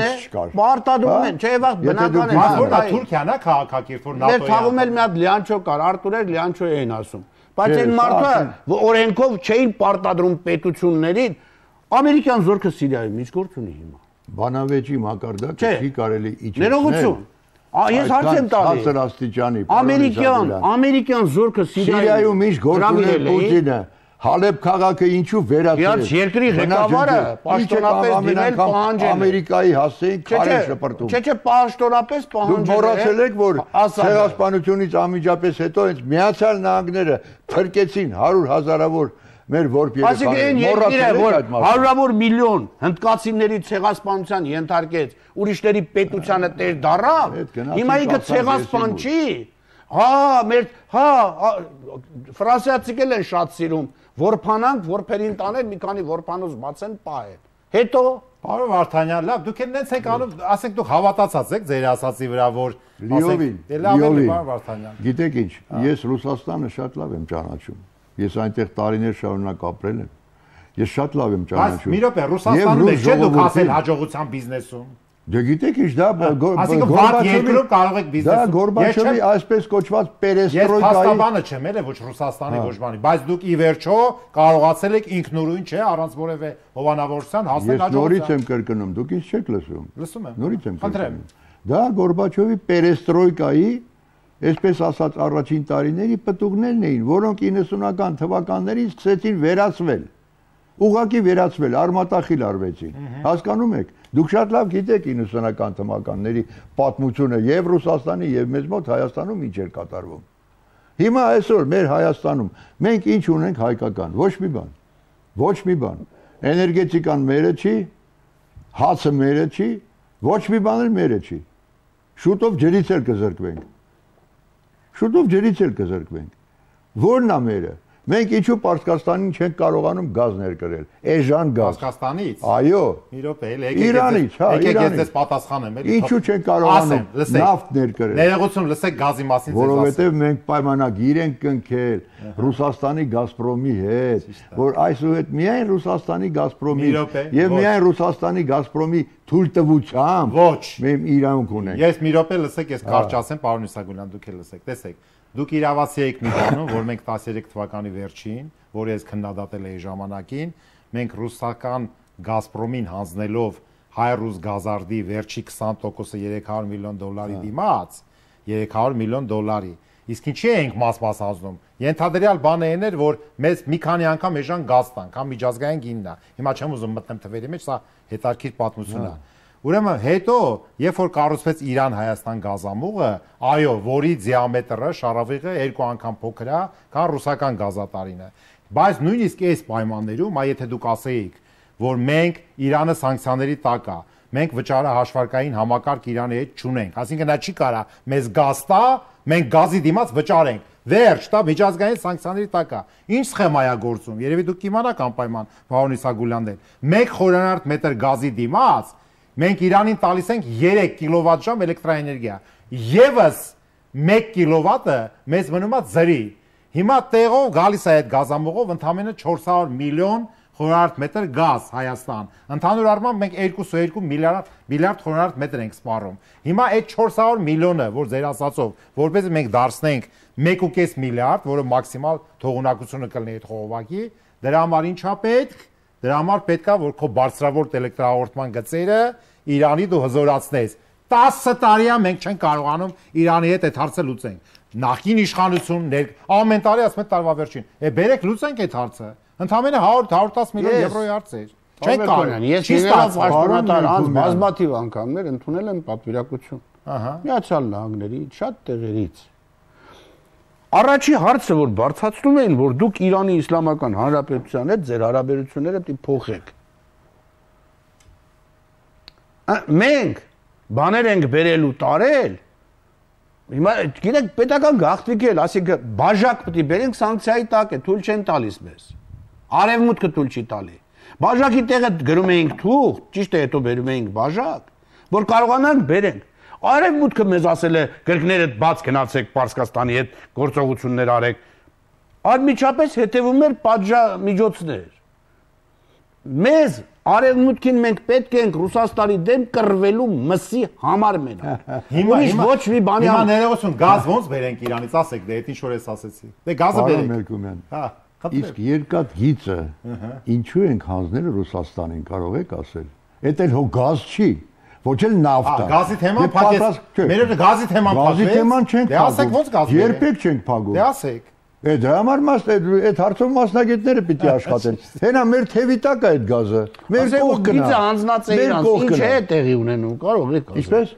պարտադրում են, չէ՞ վաղ բնական է։ Որտա Թուրքիան է քաղաքակիրթ, որ Մեր թաղում էլ մի հատ լիանչո կար, Արտուրեր լիանչո էին ասում։ Բայց այն մարդը օրենքով չէին պարտադրում պետություններին, ամերիկյան զորքը Սիրիայում ինչ գործ ունի հիմա։ Բանավեճի մակարդակը չի կարելի իջեցնել։ Ներողություն։ Ես հարց եմ տալի։ Ցածր աստիճանի։ Ամերիկյան զորքը Սիրիայում ինչ գործ ունի Պուտինը։ Հալեբ քաղաքը ինչու վերացրել։ Իհաց երկրի ղեկավարը պաշտոնապես դիմել պահանջել։ Ամերիկայի հասցեին քարեր շպրտում։ Չէ, պաշտոնապես պահանջել։ Դուք մոռացել եք, որ ցեղասպանությունից անմիջապես հետո հենց Միացյալ Նահանգները փրկեցին 100,000-ավոր մեր որբ երեխաներ։ Այսինքն հարյուրավոր միլիոն հնդկացիների ցեղասպանության ենթարկեց, ուրիշների պետությանը տեր դառավ։ Հիմա ինքը ցեղասպան չի։ Ֆրանսիացիք են շատ սիրում, որփանանք, որփերին տանել, մի քանի որփանոց բացեն, պահեն։ Հետո Պարոն Վարդանյան, լավ, դուք էլ նենց եք անում, ասենք դուք հավատացած եք ձեր ասացի վրա, որ Լիովին, գիտեք ինչ, ես Ռուսաստանը շատ լավ եմ ճանաչում, ես այնտեղ տարիներ շարունակ ապրել եմ, ես շատ լավ եմ ճանաչում։ Մի րոպե, Ռուսաստանում եք չէ դուք ասել հաջողության բիզնեսում։ Դե գիտեք ինչ դա Գորբաչովի կարող եք բիզնեսում։ Դա Գորբաչովի այսպես կոչված պերեստրոյկայի։ Ես փաստաբանը չեմ, էլի ոչ Ռուսաստանի ոչ բանի, բայց դուք ի վերջո կարողացել եք ինքնուրույն չէ, առանց որևէ հովանավորության հասնել Ես հաջողության։ նորից եմ կրկնում, դուք ինձ չեք լսում։ Լսում եմ։ Նորից եմ կրկնում։ Դա Գորբաչովի պերեստրոյկայի, այսպես ասած, առաջին տարիների պտուղներն էին, որոնք 90-ական թվականներին սկսեցին վերացվել։ Ուղղակի վերացվել, արմատախիլ արվեցին։ Հասկանում եք։ Դուք շատ լավ գիտեք 90-ական թվականների պատմությունը եւ Ռուսաստանի եւ մեզ մոտ Հայաստանում ինչ էր կատարվում։ Հիմա այսօր մեր Հայաստանում մենք ինչ ունենք հայկական, ոչ մի բան։ Ոչ մի բան։ Էներգետիկան մերը չի, հացը մերը չի, ոչ մի բան էլ մերը չի։ Շուտով ջրից էլ կզրկվենք։ Շուտով ջրից էլ կզրկվենք։ Ո՞րն է մերը։ Մենք ինչու Պարսկաստանին չենք կարողանում գազ ներկրել։ Էժան գազ։ Պարսկաստանից։ Այո։ Մի րոպե, Իրանից, հա, եկեք ես դες պատասխանեմ, էլի։ Ինչու չենք կարողանում նավթ ներկրել։ Ներողություն, լսեք գազի մասին ձեզ ասեմ։ Որովհետև մենք պայմանագիր ենք կնքել Ռուսաստանի Գազպրոմի հետ, որ այսուհետ միայն Ռուսաստանի Գազպրոմի եւ միայն Ռուսաստանի Գազպրոմի թույլտվությամբ մենք իրանք ունենք։ Ես մի րոպե լսեք, ես կարճ ասեմ, պարոն Իսագուլյան, դուք էլ լսեք, տեսեք։ Դուք իրավացի եք մի բանում, որ մենք 13 թվականի վերջին, որը ես քննադատել էի ժամանակին, մենք ռուսական Գազպրոմին հանձնելով հայ-ռուս գազարդի վերջի 20%-ը 300 միլիոն դոլարի դիմաց, 300 միլիոն դոլարի։ Իսկ ինչի ենք մաս-մաս հանձնում։ Ենթադրյալ բանը այն էր, որ մեզ մի քանի անգամ էժան գազ տան, կամ միջազգային գինն է։ Հիմա չեմ ուզում մտնեմ թվերի մեջ, սա հետաքրքիր պատմություն է։ Ուրեմն հետո, երբ որ կառուցվեց Իրան-Հայաստան գազամուղը, այո, որի դիամետրը, շարավիղը 2 անգամ փոքր է, քան ռուսական գազատարինը։ Բայց նույնիսկ այս պայմաններում, եթե դուք ասեիք, որ մենք Իրանը սանկցիաների տակ է, մենք վճարը հաշվարկային համակարգ Իրանի հետ չունենք, այսինքն նա չի կարա մեզ գազ տա, մենք գազի դիմաց վճարենք։ Վերջ, դա միջազգային սանկցիաների տակ է։ Ինչ սխեմա է գործում։ Երևի դուք կիմանաք անպայման, պարոն Իսագուլյանն, 1 խորանարդ մետր գազի դիմաց մենք Իրանին տալիս ենք 3 կիլովատժամ էլեկտրաէներգիա։ Եվս 1 կիլովատը մեզ մնում է ձրի։ Հիմա տեղով գալիս է այդ գազամուղով ընդամենը 400 միլիոն խորանարդ մետր գազ Հայաստան։ Ընդհանուր առմամբ մենք 2.2 միլիարդ խորանարդ մետր ենք սպառում։ Հիմա այդ 400 միլիոնը, որ ձեր ասածով, որպես մենք դարձնենք 1.5 միլիարդ, որը մաքսիմալ թողունակությունը կլինի այդ խողովակի, դրա համար ինչա պետք։ Դրա համար պետք է որ քո բարձրավոր էլեկտրահաղորդման գծերը Իրանի դու հզորացնես 10 տարի է մենք չենք կարողանում Իրանի հետ այդ հարցը լուծենք։ Նախկին իշխանություններ ամեն տարի ասում են տարվա վերջին։ Բերեք լուծենք այդ հարցը։ Ընդամենը 100-110 միլիոն եվրոյի հարց է։ Չենք կարող։ Ես եղած պաշտոնատար անց բազմաթիվ անգամներ ընդունել եմ պատվիրակություն։ Միացյալ Նահանգների շատ տեղերից։ Առաջի հարցը, որ բարձրացնում էին, որ դուք Իրանի Իսլամական Հանրապետության հետ ձեր հարաբերությունները պետք է փոխեք։ Մենք բաներ ենք բերելու տարել։ Հիմա գիտեք պետական գաղտնիք էլ, ասենք բաժակ պետք է բերենք սանկցիայի տակ է, թույլ չեն տալիս մեզ։ Արևմուտքը թույլ չի տալի։ Բաժակի տեղը գրում էինք թուղթ, ճիշտ է, հետո բերում էինք բաժակ, որ կարողանանք բերենք։ Արևմուտքը մեզ ասել է գրկներդ բաց գնացեք Պարսկաստանի հետ գործողություններ արեք։ Անմիջապես հետևում էր պատժամիջոցներ։ Մեզ Արևմուտքին մենք պետք ենք Ռուսաստանի դեմ կռվելու մսի համար մենակ։ Հիմա ոչ մի բանի հիմա ներողություն, գազ ոնց բերենք Իրանից, ասեք, դե այդ ինչ որ ես ասեցի։ Դե գազը բերենք։ Հա, իսկ երկաթ գիծը ինչու ենք հանձնել Ռուսաստանին, կարող եք ասել։ Էդ էլ հո գազ չի, ոչ էլ նավթ է։ Գազի թեման փակեց։ Մեր գազի թեման փակեց։ Գազի թեման չենք փակում։ Դե ասեք ոնց գազ բերենք։ Երբեք չենք փակում։ Դե ասեք։ Դրա համար այդ հարցով մասնագետները պիտի աշխատեն։ Հենա մեր թևի տակ է այդ գազը։ Մեր կողք գնա։ Գիծը հանձնած է իրանց, ինչ է տեղի ունենում, կարող եք ասել։ Ինչպես։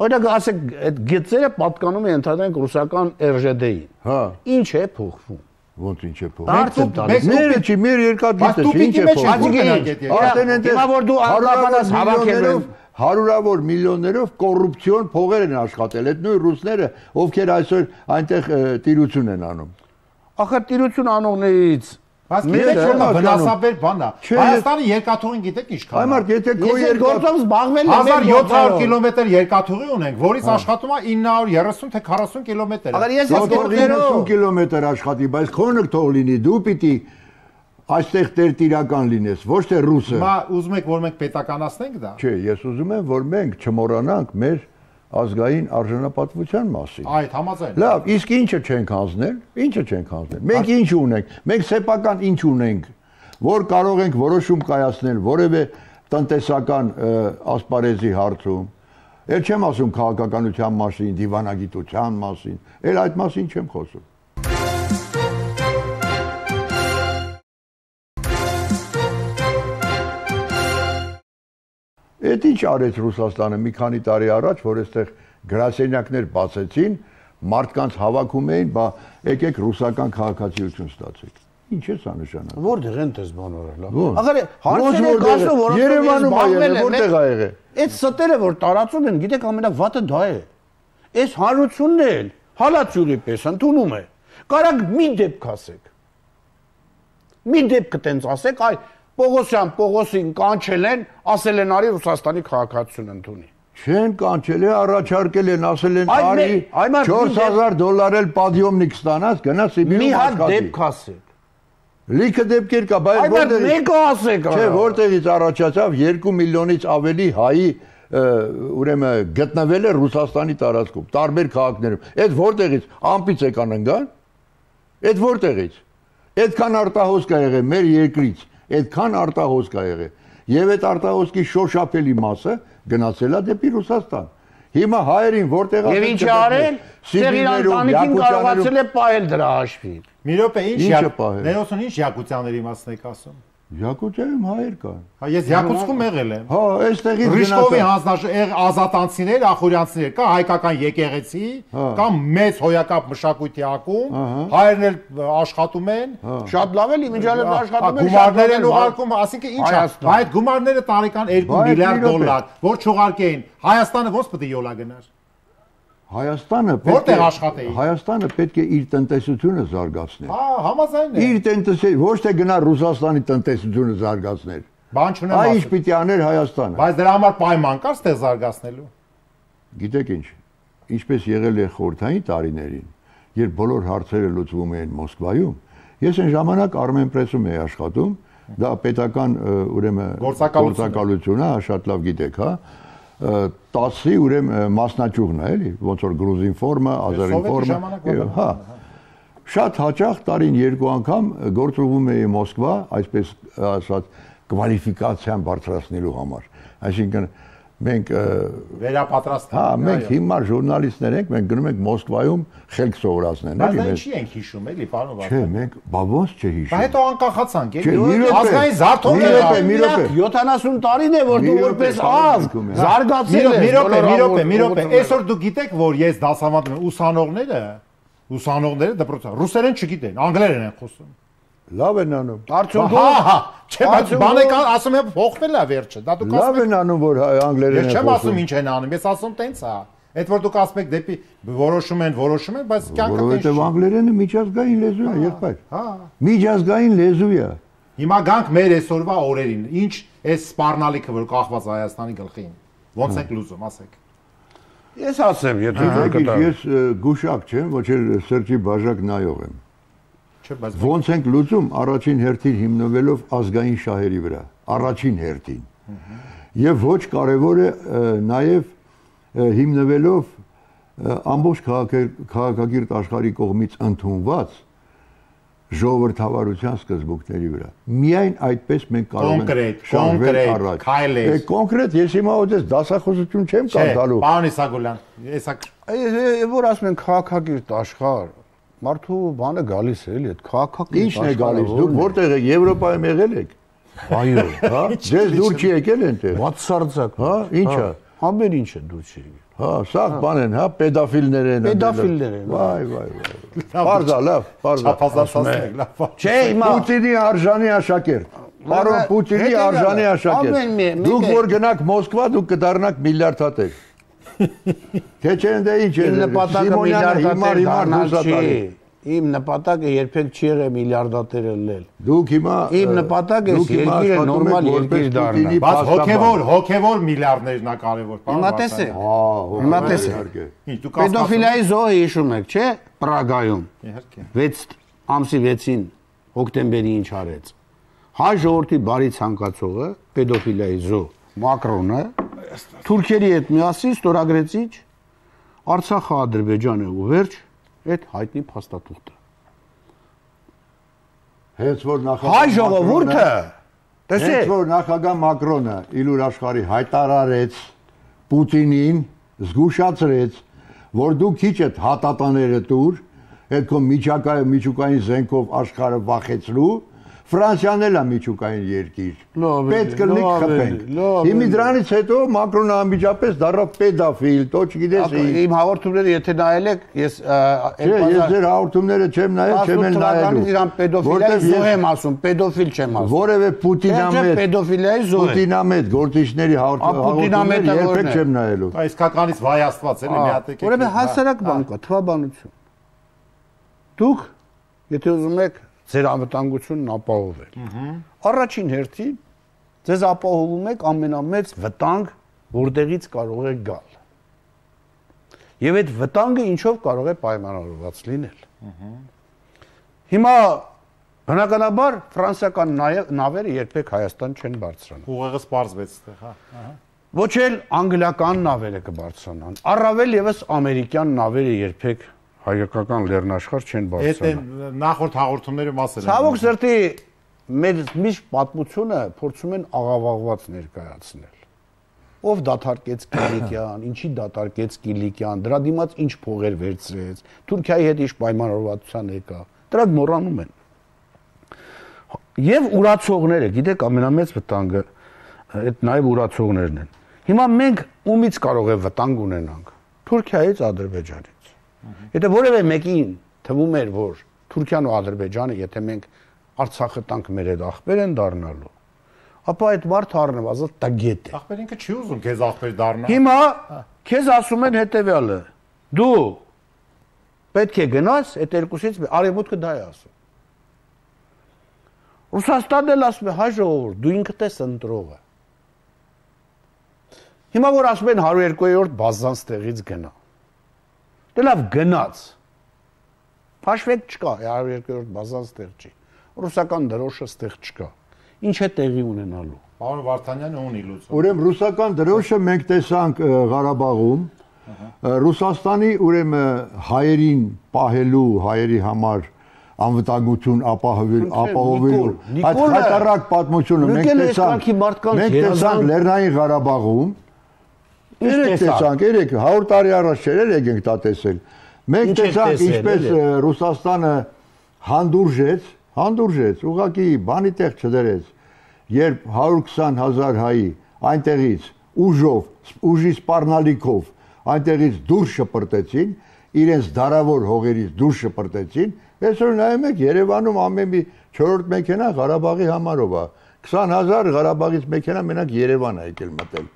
Օրինակ ասեք, այդ գիծերը պատկանում են ընդհանրեն ռուսական RŽD-ին։ Հա։ Ինչ է փոխվում։ Ոնց ինչ է փոխվում։ Հարցը տալիս։ Մեր չի, մեր երկաթ գիծը ինչ է փոխվում։ Արդեն այնտեղ հիմա որ դու անդրադառնաս հավաքելով հարյուրավոր միլիոններով կոռուպցիոն փողեր են աշխատել։ Այդ նույն ռուսները, ովքեր այսօր այնտեղ տիրություն են անում։ Ախր տիրություն անողներից Բայց գիտեք որ վնասաբեր բան է։ Հայաստանի երկաթուղին գիտեք ինչքան։ Այմարդ եթե քո երկաթով զբաղվել 1700 կիլոմետր երկաթուղի ունենք, որից աշխատում է 930 թե 40 կիլոմետր։ Ախր ես 90 կիլոմետր աշխատի, բայց քոնը թող լինի, դու պիտի այստեղ տերտիրական լինես, ոչ թե ռուսը։ Հիմա ուզում եք որ մենք պետականացնենք դա։ Չէ, ես ուզում եմ որ մենք չմոռանանք մեր ազգային արժանապատվության մասին։ Այդ համաձայն։ Լավ, իսկ ինչը չենք հանձնել։ Ինչը չենք հանձնել։ Մենք ինչ ունենք։ Մենք սեփական ինչ ունենք, որ կարող ենք որոշում կայացնել որևէ տնտեսական ասպարեզի հարցում։ Էլ չեմ ասում քաղաքականության մասին, դիվանագիտության մասին, էլ այդ մասին չեմ խոսում։ Այդ ինչ արեց Ռուսաստանը մի քանի տարի առաջ, որ այստեղ գրասենյակներ բացեցին, մարդկանց հավաքում էին, բա եկեք ռուսական քաղաքացիություն ստացեք։ Ինչ է սա նշանակում։ Որտեղ են դες բաները լավ։ Ախր հարցերը կասում, որ Երևանում է եղել, որտեղ է եղել։ Այդ ստերը որ տարածում են, գիտեք ամենավատը դա է։ Այս հանրությունն էլ հալածյուրի պես ընդունում է։ Կարանք մի դեպք ասեք։ Մի դեպք տենց ասեք, այ Պողոսյան Պողոսին կանչել են, ասել են արի Ռուսաստանի քաղաքացիություն ընդունի։ Չեն կանչել, առաջարկել են, ասել են արի $4000 էլ պադյոմնիկ ստանաս, գնա Սիբիրում աշխատի։ Մի հատ դեպք ասեք։ Լիքը դեպքեր կա, բայց որտեղից։ Այ մեկը ասեք։ Չէ, որտեղից առաջացավ 2 միլիոնից ավելի հայի ուրեմն գտնվել է Ռուսաստանի տարածքում, տարբեր քաղաքներում։ Այդ որտեղից ամպից եկան ընկան։ Այդ որտեղից։ Այդքան արտահոսք ա եղել մեր երկրից, այդքան արտահոսք ա եղել։ Եվ այդ արտահոսքի շոշափելի մասը գնացել է դեպի Ռուսաստան։ Հիմա հայերին որտեղ Եվ ինչ արել։ Սիրիան տանիքին կարողացել է պահել դրա հաշվին։ Մի րոպե, ինչ ներոսուն ինչ Յակուցյանների մասն եք ասում։ Յակուցիայում հայեր կան։ Հա ես Յակուցքում եղել եմ։ Հա, այստեղից Ռիշկովի հանձնաժողովի ազատանցիներ, ախուրյանցիներ, կա հայկական եկեղեցի, կամ մեծ հոյակապ մշակույթի ակում, հայերն էլ աշխատում են։ Շատ լավ էլի, մինչև աշխատում են, գումարներ են ուղարկում, ասինքն ինչ է, այդ գումարները տարեկան $2 միլիարդ, որ չուղարկեին, Հայաստանը ոնց պետք է յոլա գնար։ Հայաստանը պետք է իր տնտեսությունը զարգացներ։ Հա, համաձայն է։ Իր տնտեսությունը ոչ թե գնա Ռուսաստանի տնտեսությունը զարգացներ։ Բան չունեմ ասել։ Այս պիտի աներ Հայաստանը։ Բայց դրա համար պայման կա ստեղ զարգացնելու։ Գիտեք ինչ, ինչպես եղել է խորհրդային տարիներին, երբ բոլոր հարցերը լուծվում էին Մոսկվայում, ես այն ժամանակ Armenpress-ում էի աշխատում, դա պետական ուրեմն գործակալություն է, շատ լավ գիտեք, հա։ 10-ի ուրեմն մասնաճյուղն է, էլի, ոնց որ Gruzin-Form-ը, Azerine-Form-ը, հա։ Շատ հաճախ տարին 2 անգամ գործուղում էի Մոսկվա, այսպես ասած, կվալիֆիկացիան բարձրացնելու համար։ Այսինքն մենք վերապատրաստում։ Հա, մենք հիմար ժուրնալիստներ ենք, մենք գնում ենք Մոսկվայում խելք սովորացնեն, էլի։ Բայց ինչի ենք հիշում, էլի, պարոն Վարդան։ Չէ, մենք բա ոնց չէ հիշում։ Բայց հետո անկախացանք, էլի։ Ազգային զարթոնք մի րոպե։ 70 տարին է որ դու որպես ազգ զարգացել ես։ Մի րոպե, այսօր դու գիտեք, որ ես դասավանդում եմ ուսանողները դպրոցը ռուսերեն չգիտեն, անգլերեն են խոսում։ Լավ են անում։ Արդյունքում չէ, բայց բանեկան ասում եմ փոխվել է վերջը, դա դուք Լավ են անում, որ անգլերեն են խոսում։ Ես չեմ ասում ինչ են անում, ես ասում տենց է։ Այդ որ դուք ասում եք դեպի որոշում են, բայց կյանքը տենց Որովհետև անգլերենը միջազգային լեզու է, եղբայր։ Հա։ Միջազգային լեզու է։ Հիմա գանք մեր այսօրվա օրերին, ինչ այս սպառնալիքը, որ կախված Հայաստանի գլխին, ոնց եք լուծում, ասեք։ Ես ասեմ, եթե ես գուշակ չեմ, ոչ էլ սրճի բաժակ նայող եմ։ Չէ, բայց Ոնց ենք լուծում առաջին հերթին հիմնվելով ազգային շահերի վրա, առաջին հերթին։ Եվ ոչ կարևոր է նաև հիմնվելով ամբողջ քաղաքակիրթ աշխարհի կողմից ընդունված ժողովրդավարության սկզբունքների վրա։ Միայն այդպես մենք կարող ենք շարժվել առաջ։ Կոնկրետ ես հիմա ոդես դասախոսություն չեմ կարդալու։ Պարոն Իսագուլյան, որ ասում են քաղաքակիրթ աշխարհ, մարդու բանը գալիս է, էլի, այդ քաղաքակիրթ Ինչն է գալիս։ Դուք որտեղ եք, Եվրոպայում եղել եք։ Այո, հա, ձեզ դուր չի եկել այնտեղ։ Բացարձակ, հա, ինչա։ Համեր ինչ է դուր չի եկել։ Հա, սա բան են, հա, պետաֆիլներ են։ Պետաֆիլներ են։ Վայ։ Բարձա, լավ, բարձա։ Չափազանցացնեք, լավ։ Չէ, հիմա Պուտինի արժանի աշակերտ։ Պարոն Պուտինի արժանի աշակերտ։ Դուք որ գնաք Մոսկվա, դուք կդառնաք միլիարդատեր։ Թե չէ ընդ ինչ է։ Իմ նպատակը միլիարդատեր դառնալ չի։ Իմ նպատակը երբեք չի եղել միլիարդատեր ելնել։ Դուք հիմա Իմ նպատակը երկիրը նորմալ երկիր դառնա։ Բայց հոգևոր միլիարդներն է կարևոր, Հիմա տեսեք։ Հիմա տեսեք։ Ինչ դուք Պետոֆիլիայի զոհը հիշում եք, չէ՞, Պրագայում։ Իհարկե։ 6 ամսի 6-ին հոկտեմբերի ինչ արեց։ Հայ ժողովրդի բարի ցանկացողը պետոֆիլիայի զոհ Մակրոնը թուրքերի հետ միասին ստորագրեցիչ Արցախը Ադրբեջանը ու վերջ այդ հայտնի փաստաթուղթը։ Հենց որ Հայ ժողովուրդը տեսեք, հենց որ նախագահ Մակրոնը իլուր աշխարհի հայտարարեց Պուտինին, զգուշացրեց, որ դու քիչ այդ հատատաները տուր, այդ քո միջուկային զենքով աշխարհը վախեցրու, Ֆրանսիան էլ է միջուկային երկիր։ Պետք կլինի խփենք։ Հիմա դրանից հետո Մակրոնը անմիջապես դառավ պետոֆիլ, դու չգիտես։ Իմ հաղորդումները եթե նայել եք, ես ես ձեր հաղորդումները չեմ նայել, չեմ էլ նայելու։ Իրան պետոֆիլիայի զոհ եմ ասում, պետոֆիլ չեմ ասում։ Որևէ Պուտինամետ, պետոֆիլիայի զոհ է։ Պուտինամետ գործիչների հաղորդումները երբեք չեմ նայելու։ Իսկականից վայ Աստված էլի մի հատ եկեք։ Որևէ հասարակ բան կա, թվաբանություն։ Դուք եթե ուզում եք ձեր անվտանգությունն ապահովել։ Առաջին հերթին ձեզ ապահովում եք ամենամեծ վտանգ, որտեղից կարող է գալ։ Եվ այդ վտանգը ինչով կարող է պայմանավորված լինել։ Հիմա բնականաբար ֆրանսիական նավերը երբեք Հայաստան չեն բարձրանա։ Ուղեղը սպառվեց այդտեղ, հա։ Ոչ էլ անգլիական նավերը կբարձրանան։ Առավել եւս ամերիկյան նավերը երբեք հայկական լեռնաշխարհ չեն բարձրանա։ Այդ նախորդ հաղորդումների մասը։ Ցավոք սրտի մեր միշտ պատմությունը փորձում են աղավաղված ներկայացնել։ Ով դատարկեց Կիլիկյան, ինչի դատարկեց Կիլիկյան, դրա դիմաց ինչ փողեր վերցրեց, Թուրքիայի հետ ինչ պայմանավորվածության եկա։ Դրանք մոռանում են։ Եվ ուրացողները, գիտեք, ամենամեծ վտանգը այդ նաև ուրացողներն են։ Հիմա մենք ումից կարող է վտանգ ունենանք։ Թուրքիայից, Ադրբեջանից։ Եթե որևէ մեկին թվում էր, որ Թուրքիան ու Ադրբեջանը, եթե մենք Արցախը տանք մեր այդ աղբեր են դառնալու, ապա այդ մարդը առնվազն տագետ է։ Աղբեր ինքը չի ուզում քեզ աղբեր դառնա։ Հիմա քեզ ասում են հետևյալը. դու պետք է գնաս այդ երկուսից արևմուտքը դա է ասում։ Ռուսաստանն էլ ասում է հայ ժողովուրդ, դու ինքդ ես ընտրողը։ Հիմա որ ասում են 102-րդ բազան ստեղից գնա։ Դե լավ գնաց։ Փաշվեք չկա, 102-րդ բազան ստեղ չի։ Ռուսական դրոշը ստեղ չկա։ Ինչ է տեղի ունենալու։ Պարոն Վարդանյանը ունի լուծում։ Ուրեմն ռուսական դրոշը մենք տեսանք Ղարաբաղում, Ռուսաստանի ուրեմն հայերին պահելու, հայերի համար անվտանգություն ապահովելու այդ հայտարարակ պատմությունը մենք տեսանք Լեռնային Ղարաբաղում, տեսանք, 100 տարի առաջ չէր եկենք դա տեսել։ Մենք տեսանք ինչպես Ռուսաստանը հանդուրժեց, ուղղակի բանի տեղ չդրեց, երբ 120,000 հայի այնտեղից ուժի սպառնալիքով այնտեղից դուրս շպրտեցին, իրենց դարավոր հողերից դուրս շպրտեցին, այսօր նայում եք Երևանում ամեն մի 4-րդ մեքենա Ղարաբաղի համարով է, 20,000 Ղարաբաղից մեքենա մենակ Երևան է եկել մտել։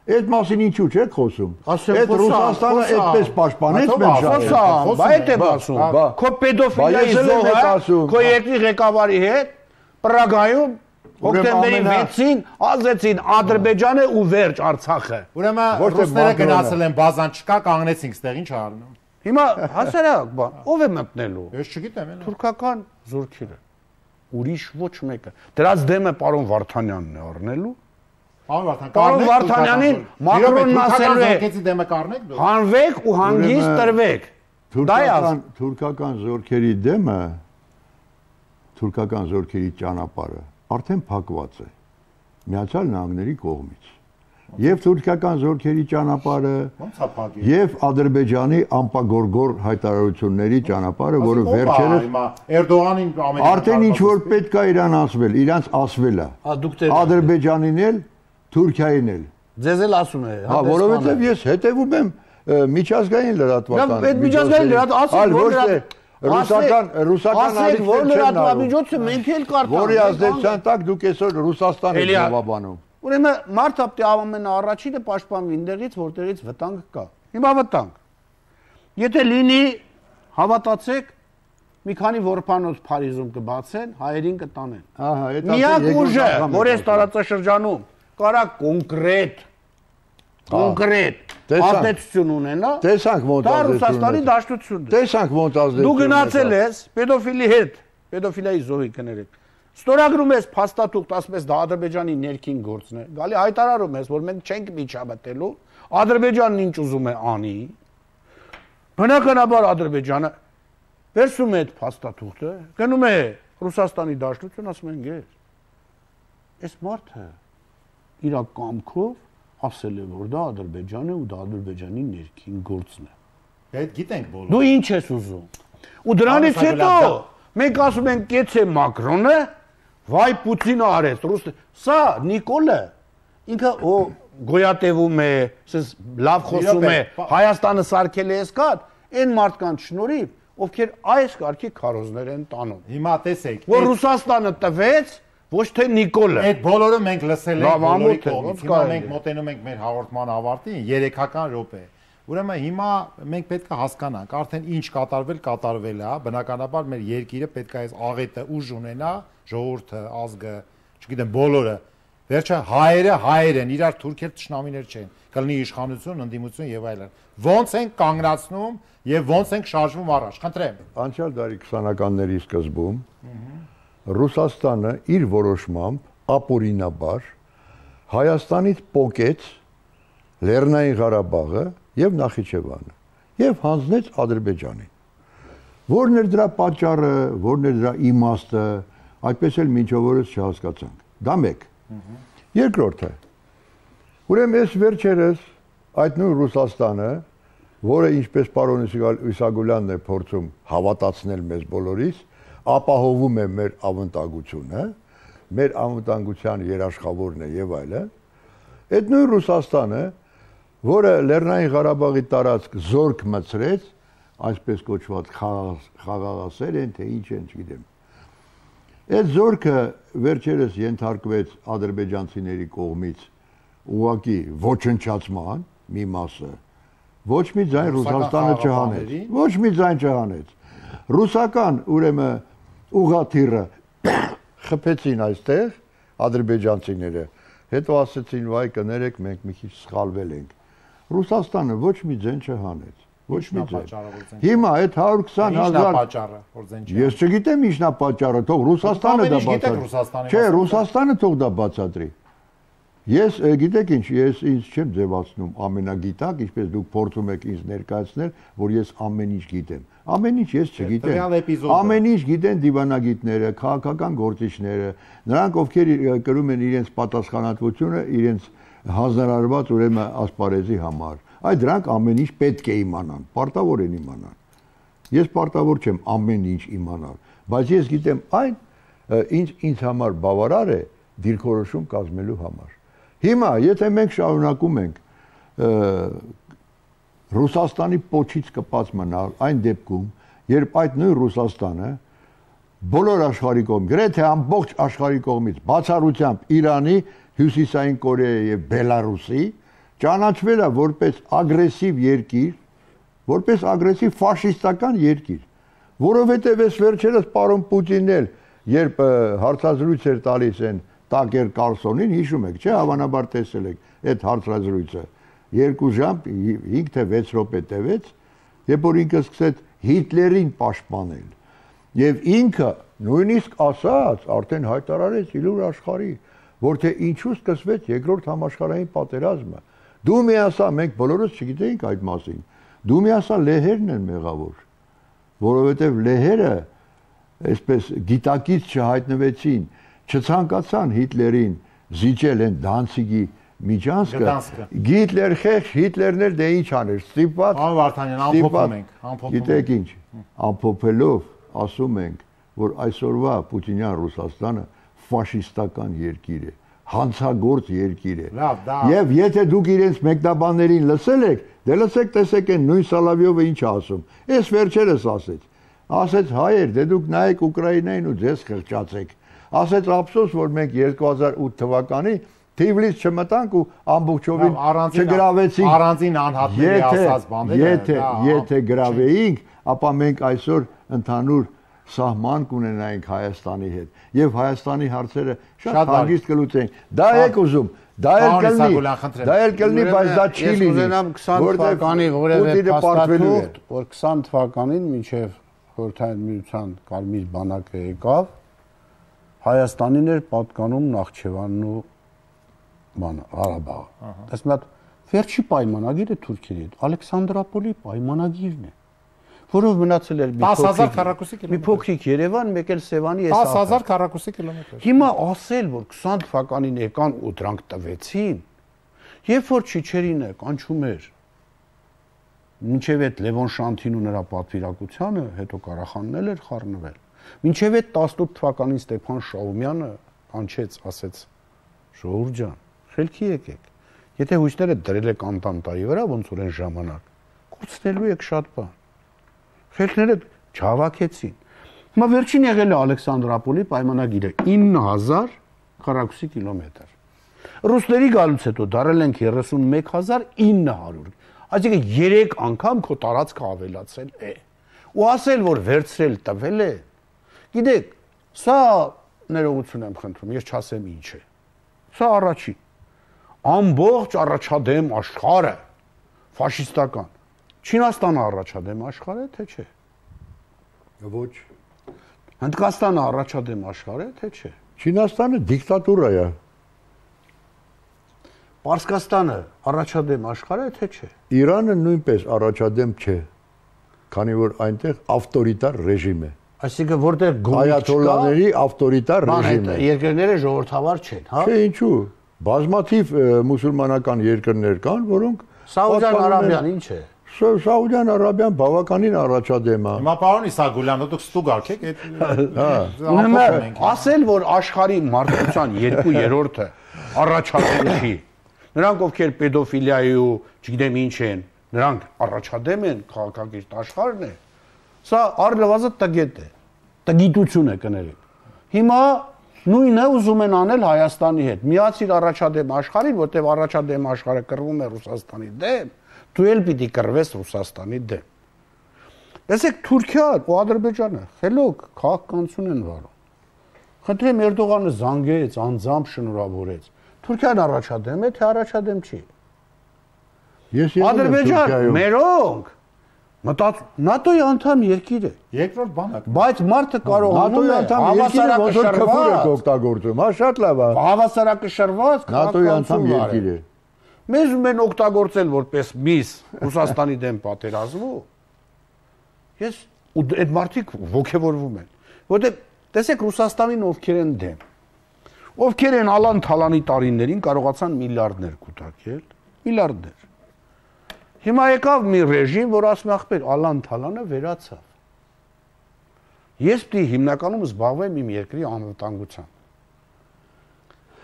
Այդ մասին ինչու չեք խոսում։ Այդ Ռուսաստանը այդպես պաշտպանեց մեր շահերը։ Բա այդ եմ ասում։ Քո պեդոֆիլիայի զոհը քո երկրի ղեկավարի հետ Պրագայում հոկտեմբերի 6-ին ազեցին Ադրբեջանը ու վերջ Արցախը։ Ուրեմն ռուսները գնացել են բազան չկա, կանգնեցինք ստեղ, ինչ արնում։ Հիմա հասարակ բան, ով է մտնելու։ Ես չգիտեմ, էլի։ Թուրքական զորքերը։ Ուրիշ ոչ մեկը։ Դրանց դեմը պարոն Վարդանյանն է առնելու։ Պարոն Վարդանյանին Մակրոնն ասելու է դեմը կառնեք դու։ Հանվեք ու հանգիստ տրվեք։ Թուրքական զորքերի դեմը, թուրքական զորքերի ճանապարհը արդեն փակված է Միացյալ Նահանգների կողմից։ Եվ թուրքական զորքերի ճանապարհը, եւ Ադրբեջանի ամպագորգոր հայտարարությունների ճանապարհը, որը վերջերս Էրդողանին արդեն ինչ որ պետք է իրան ասվել, իրանց ասվել է։ Ադրբեջանին էլ, Թուրքիային էլ։ Ձեզ էլ ասում է։ Հա, որովհետեւ ես հետևում եմ միջազգային լրատվական։ Այդ միջազգային ռուսական որ լրատվամիջոցը մենք էլ կարտանք։ Որի ազդեցության տակ դուք այսօր Ռուսաստանը եք զավաբանում։ Ուրեմն մարդապտի ամենաառաջինը պաշտպանվի այնտեղից, որտեղից վտանգ կա։ Հիմա վտանգ։ Եթե լինի, հավատացեք, մի քանի որբանոց Փարիզում կբացեն, հայերին կտանեն։ Ահա, այդ միակ ուժը, որ այս տարածաշրջանում կարա կոնկրետ ազդեցություն ունենա։ Տեսանք ոնց դա Ռուսաստանի դաշտությունն է։ Տեսանք ոնց ազդեցություն։ Դու գնացել ես պետոֆիլի հետ, պետոֆիլիայի զոհի կներեք։ Ստորագրում ես փաստաթուղթ, ասում ես դա Ադրբեջանի ներքին գործն է։ Գալի հայտարարում ես, որ մենք չենք միջամտելու, Ադրբեջանն ինչ ուզում է անի։ Բնականաբար Ադրբեջանը վերցում է այդ փաստաթուղթը, գնում է Ռուսաստանի դաշտություն, ասում են գեր։ Այս մարդը իր կամքով ասել է, որ դա Ադրբեջանը ու դա Ադրբեջանի ներքին գործն է։ Այդ գիտենք բոլորը։ Դու ինչ ես ուզում։ Ու դրանից հետո մենք ասում ենք կեցե Մակրոնը, վայ Պուտինը արեց, սա Նիկոլը ինքը գոյատևում է, լավ խոսում է, Հայաստանը սարքել է էսկատ, այն մարդկանց շնորհիվ, ովքեր այս կարգի քարոզներ են տանում։ Հիմա տեսեք, որ Ռուսաստանը տվեց ոչ թե Նիկոլը։ Այդ բոլորը մենք լսել ենք բոլորի կողմից։ Հիմա մենք մոտենում ենք մեր հաղորդման ավարտին 3-ական րոպե։ Ուրեմն հիմա մենք պետք է հասկանանք, արդեն ինչ կատարվել է, բնականաբար մեր երկիրը պետք է այս աղետը ուժ ունենա, ժողովուրդը, ազգը, չգիտեմ, բոլորը։ Վերջը հայեր են, իրար թուրքեր թշնամիներ չեն, կլինի իշխանություն, ընդդիմություն եւ այլն։ Ոնց են կանգնացնում եւ ոնց են շարժվում առաջ, խնդրեմ։ Անցյալ դարի 20-ականների սկզբում Ռուսաստանը իր որոշմամբ ապօրինաբար Հայաստանից պոկեց Լեռնային Ղարաբաղը եւ Նախիջևանը եւ հանձնեց Ադրբեջանին։ Որն էր դրա պատճառը, որն էր դրա իմաստը, այդպես էլ մինչ օրս չհասկացանք։ Դա մեկ։ Երկրորդը։ Ուրեմն այս վերջերս այդ նույն Ռուսաստանը, որը ինչպես պարոն Իսագուլյանն է փորձում հավատացնել մեզ բոլորիս, ապահովում է մեր ավանդագությունը, մեր անվտանգության երաշխավորն է եւ այլն։ Այդ նույն Ռուսաստանը, որը Լեռնային Ղարաբաղի տարածք զորք մցրեց, այսպես կոչված խաղաղասեր են, թե ինչ են, չգիտեմ։ Այդ զորքը վերջերս ենթարկվեց ադրբեջանցիների կողմից ուղղակի ոչնչացման մի մասը։ Ոչ մի ձայն Ռուսաստանը չհանեց։ Ոչ մի ձայն չհանեց։ Ռուսական ուրեմն ուղղաթիռը խփեցին այստեղ ադրբեջանցիները, հետո ասեցին վայ կներեք մենք մի քիչ սխալվել ենք։ Ռուսաստանը ոչ մի ձեն չհանեց, ոչ մի ձեն։ Հիմա այդ 120,000 պատճառը, որ ձեն չի։ Ես չգիտեմ ինչն է պատճառը, թող Ռուսաստանը դա բացատրի։ Չէ, Ռուսաստանը թող դա բացատրի։ Ես գիտեք ինչ, ես ինձ չեմ ձևացնում ամենագիտակ, ինչպես դուք փորձում եք ինձ ներկայացնել, որ ես ամեն ինչ գիտեմ։ Ամեն ինչ ես չգիտեմ։ Ամեն ինչ գիտեն դիվանագիտները, քաղաքական գործիչները, նրանք ովքեր կրում են իրենց պատասխանատվությունը, իրենց հանձնարարված ուրեմն ասպարեզի համար։ Այդ դրանք ամեն ինչ պետք է իմանան, պարտավոր են իմանան։ Ես պարտավոր չեմ ամեն ինչ իմանալ, բայց ես գիտեմ այն, ինչ ինձ համար բավարար է դիրքորոշում կազմելու համար։ Հիմա, եթե մենք շարունակում ենք Ռուսաստանի պոչից կպած մնալ այն դեպքում, երբ այդ նույն Ռուսաստանը բոլոր աշխարհի կողմից, գրեթե ամբողջ աշխարհի կողմից բացառությամբ Իրանի, Հյուսիսային Կորեայի եւ Բելարուսի ճանաչվել է որպես ագրեսիվ երկիր, որպես ագրեսիվ ֆաշիստական երկիր, որովհետեւ այս վերջերս պարոն Պուտինն էլ երբ հարցազրույց էր տալիս այն Տակեր Կարլսոնին, հիշում եք, չէ՞, հավանաբար տեսել եք այդ հարցազրույցը 2 ժամ 5 թե 6 րոպե տևեց, երբ որ ինքը սկսեց Հիտլերին պաշտպանել։ Եվ ինքը նույնիսկ ասաց, արդեն հայտարարեց իլուր աշխարհի, որ թե ինչու սկսվեց երկրորդ համաշխարհային պատերազմը։ Դու մի ասա, մենք բոլորս չգիտեինք այդ մասին։ Դու մի ասա, լեհերն են մեղավոր, որովհետև լեհերը այսպես գիտակից չհայտնվեցին, չցանկացան Հիտլերին զիջել են Դանցիգի միջանցքը։ Հիտլեր խեղճ, Հիտլերն էլ դե ինչ աներ, ստիպված։ Ան Վարդանյան, ամփոփում ենք, Գիտեք ինչ, ամփոփելով ասում ենք, որ այսօրվա Պուտինյան Ռուսաստանը ֆաշիստական երկիր է, հանցագործ երկիր է։ Եվ եթե դուք իրենց մեկնաբաններին լսել եք, դե լսեք, տեսեք են նույն Սալավյովը ինչ ասում։ Այս վերջերս ասեց հայեր, դե դուք նայեք Ուկրաինային ու ձեզ խղճացեք։ Ասեց ափսոս, որ մենք 2008 թվականին Թիվլիս չմտանք ու ամբողջովին չգրավեցինք։ Առանձին անհատների ասած բաները։ Եթե գրավեինք, ապա մենք այսօր ընդհանուր սահման կունենայինք Հայաստանի հետ եւ Հայաստանի հարցերը շատ հանգիստ կլուծենք։ Դա եք ուզում, դա էլ կլինի, բայց դա չի լինի։ Ուզենամ 20 թվականի որևէ փաստաթուղթ, որ 20 թվականին մինչև Խորհրդային Միության Կարմիր բանակը եկավ, Հայաստանին էր պատկանում Նախճեվանն ու Ղարաբաղը։ Այս մի հատ վերջի պայմանագիրը Թուրքիայի հետ Ալեքսանդրապոլի պայմանագիրն է, որով մնացել էր մի փոքրիկ Երևան, մեկ էլ Սևանի այս 10000 քառակուսի կիլոմետր։ Հիմա ասել, որ 20 թվականին եկան ու դրանք տվեցին, երբ որ Չիչերինը կանչում էր մինչև այդ Լևոն Շանթին ու նրա պատվիրակությանը, հետո Ղարախանն էլ էր խառնվել։ Մինչև այդ 18 թվականին Ստեփան Շաումյանը կանչեց, ասեց. «Ժողովուրդ ջան, խելքի եկեք։ Եթե հույսները դրել եք Անտանտայի վրա, ոնց որ այն ժամանակ, կորցնելու եք շատ բան»։ Խելքները չհավաքեցին։ Հիմա վերջին եղել է Ալեքսանդրապոլի պայմանագիրը 9000 քառակուսի կիլոմետր։ Ռուսների գալուց հետո դարել ենք 31900։ Այսինքն 3 անգամ քո տարածքը ավելացել է։ Ու ասել, որ վերցրել տվել է։ Գիտեք, սա ներողություն եմ խնդրում, ես չասեմ ինչ է։ Սա առաջին։ Ամբողջ առաջադեմ աշխարհը ֆաշիստական։ Չինաստանը առաջադեմ աշխարհ է, թե չէ։ Ոչ։ Հնդկաստանը առաջադեմ աշխարհ է, թե չէ։ Չինաստանը դիկտատուրա է։ Պարսկաստանը առաջադեմ աշխարհ է, թե չէ։ Իրանը նույնպես առաջադեմ չէ, քանի որ այնտեղ ավտորիտար ռեժիմ է։ Այսինքն որտեղ գույք այաթոլլաների ավտորիտար ռեժիմ է։ Երկրները ժողովրդավար չեն, հա։ Չէ, ինչու։ Բազմաթիվ մուսուլմանական երկրներ կան, որոնք Սաուդյան Արաբիան ինչ է։ Սաուդյան Արաբիան բավականին առաջադեմ է։ Հիմա պարոն Իսագուլյանը դուք ստուգարք եք այդ ասել, որ աշխարհի մարդկության 2/3-ը առաջադեմ չի։ Նրանք ովքեր պեդոֆիլիայի ու չգիտեմ ինչ են, նրանք առաջադեմ են, քաղաքակիրթ աշխարհն է։ Սա առնվազն տգետ է, տգիտություն է կներեք։ Հիմա նույնը ուզում են անել Հայաստանի հետ։ Միացիր առաջադեմ աշխարհին, որտեղ առաջադեմ աշխարհը կռվում է Ռուսաստանի դեմ, դու էլ պիտի կռվես Ռուսաստանի դեմ։ Տեսեք, Թուրքիան ու Ադրբեջանը խելոք քաղաքականություն են վարում։ Խնդրեմ Էրդողանը զանգեց, անձամբ շնորհավորեց։ Թուրքիան առաջադեմ է, թե առաջադեմ չի։ Ադրբեջան մերոնք ՆԱՏՕ-ի անդամ երկիր է։ Երկրորդ բանակ։ Բայց մարդը կարողանում է օգտագործում, հա, շատ լավ է։ Հավասարակշռված ՆԱՏՕ-ի անդամ երկիր է։ Մեզ մեն օգտագործել որպես միս Ռուսաստանի դեմ պատերազմու։ Ես ու այդ մարդիկ ողջևորվում են, որտեղ տեսեք Ռուսաստանին ովքեր են դեմ։ ովքեր են Ալան Թալանի տարիներին կարողացան միլիարդներ կուտակել, միլիարդներ։ Հիմա եկավ մի ռեժիմ, որ ասում է ախպեր, Ալան Թալանը վերացավ։ Ես պիտի հիմնականում զբաղվեմ իմ երկրի անվտանգությամբ։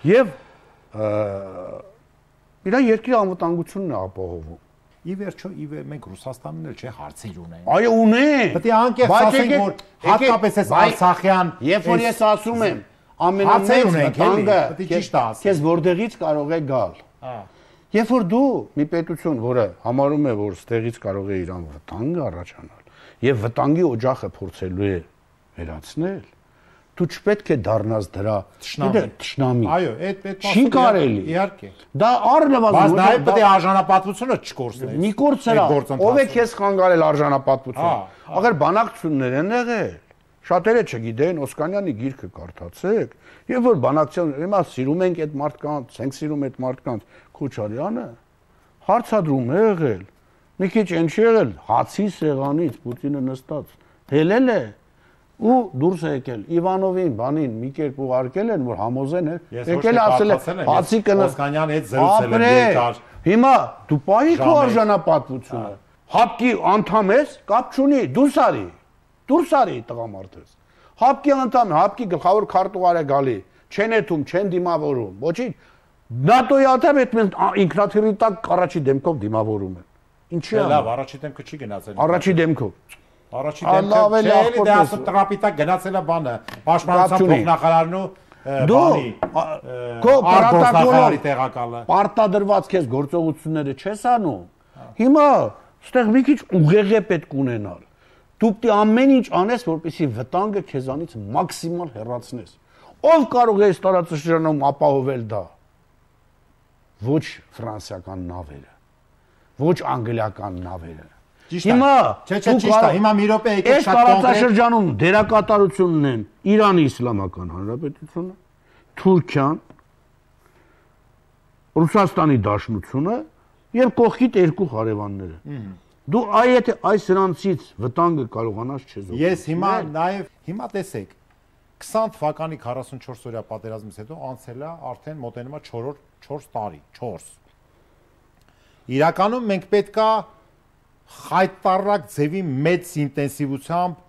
Եվ իր երկրի անվտանգությունն է ապահովում։ Ի վերջո մենք Ռուսաստանն էլ չէ հարցեր ունենք։ Այո, ունենք։ Պետք է անկեղծ ասենք, որ հատկապես այս Արցախյան, երբ որ ես ասում եմ, ամենամեծ վտանգը քեզ որտեղից կարող է գալ։ Երբ որ դու մի պետություն, որը համարում է, որ ստեղից կարող է իրան վտանգ առաջանալ, եւ վտանգի օջախը փորձելու է վերացնել, դու չպետք է դառնաս դրա թշնամի։ Այո, այդ չի կարելի։ Իհարկե։ Դա առնվազն բայց նաև պետք է արժանապատվությունը չկորցնես։ Մի կորցրա, ով է քեզ խանգարել արժանապատվությունը։ Ախր բանակցություններ են եղել։ Շատերը չգիտեն, Օսկանյանի գիրքը կարդացեք, եւ որ բանակցություն, հիմա սիրում ենք այդ մարդկանց, ենք սիրում այդ մարդկանց, Քոչարյանը հարցադրում է եղել։ Մի քիչ են չի եղել, հացի սեղանից Պուտինը նստած հելել է ու դուրս է եկել Իվանովին, բանին մի կերպ ուղարկել են, որ համոզեն եկել ասել է հացի կնա Օսկանյանի հետ զրուցել են երկար։ Հիմա դու պահի քո արժանապատվությունը։ Հապկի անդամ ես, կապ չունի, դուրս արի տղամարդես։ Հապկի անդամ, հապկի գլխավոր քարտուղար է գալի, չեն եթում, չեն դիմավորում, ոչինչ։ ՆԱՏՕ-ի անդամ այդ ինքնաթիռի տակ առաջի դեմքով դիմավորում են։ Ինչի՞ է։ Լավ, առաջի դեմքը չի գնացել։ Առաջի դեմքով։ Առաջի դեմքը չէ, դա ասում տրապիտակ գնացել է բանը, պաշտպանության փոխնախարարն ու բանի։ Քո պարտականորի տեղակալը։ Պարտադրված քեզ գործողությունները չես անում։ Հիմա այստեղ մի քիչ ուղեղ է պետք ունենալ։ Դու պետք է ամեն ինչ անես, որպեսզի վտանգը քեզանից մաքսիմալ հեռացնես։ Ով կարող է այս տարածաշրջանում ապահովել դա։ Ոչ ֆրանսիական նավերը, ոչ անգլիական նավերը։ Հիմա հիմա մի րոպե եկեք շատ կոնկրետ տարածաշրջանում դերակատարությունն են Իրանի Իսլամական Հանրապետությունը, Թուրքիան, Ռուսաստանի Դաշնությունը եւ կողքիդ երկու հարևանները։ Դու եթե այս հրանցից վտանգը կարողանաս չեզոքել։ Ես հիմա նաև տեսեք 20 թվականի 44 օրյա պատերազմից հետո անցել է արդեն մոտենում է 4 տարի, 4։ Իրականում մենք պետքա խայտարակ ձևի մեծ ինտենսիվությամբ,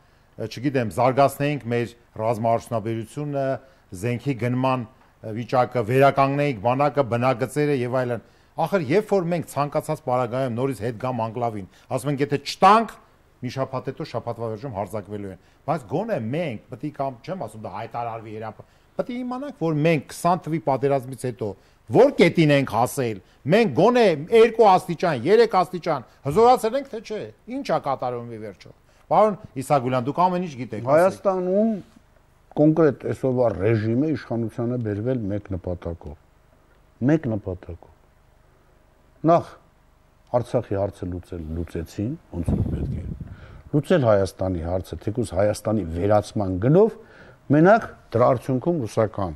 չգիտեմ, զարգացնեինք մեր ռազմաարդյունաբերությունը, զենքի գնման վիճակը, վերականգնեինք բանակը, բնագծերը եւ այլն։ Ախր երբ որ մենք ցանկացած պարագայում նորից հետ գամ անկլավին, ասում ենք եթե չտանք, մի շաբաթ հետո շաբաթվա վերջում հարձակվելու են։ Բայց գոնե մենք պետք է կամ չեմ ասում դա հայտարարվի պետք է իմանանք, որ մենք 20 թվականի պատերազմից հետո որ կետին ենք հասել, մենք գոնե 2 աստիճան, 3 աստիճան հզորացել ենք, թե չէ։ Ինչ է կատարվում ի վերջո։ Պարոն Իսագուլյան, դուք ամեն ինչ գիտեք։ Հայաստանում կոնկրետ այսօրվա ռեժիմը իշխանությանը բերվել մեկ նպատակով։ Նախ Արցախի հարցը լուծեցին, ոնց որ պետք է։ Լուծել Հայաստանի հարցը, թեկուզ Հայաստանի վերացման գնով, մենակ դրա արդյունքում ռուսական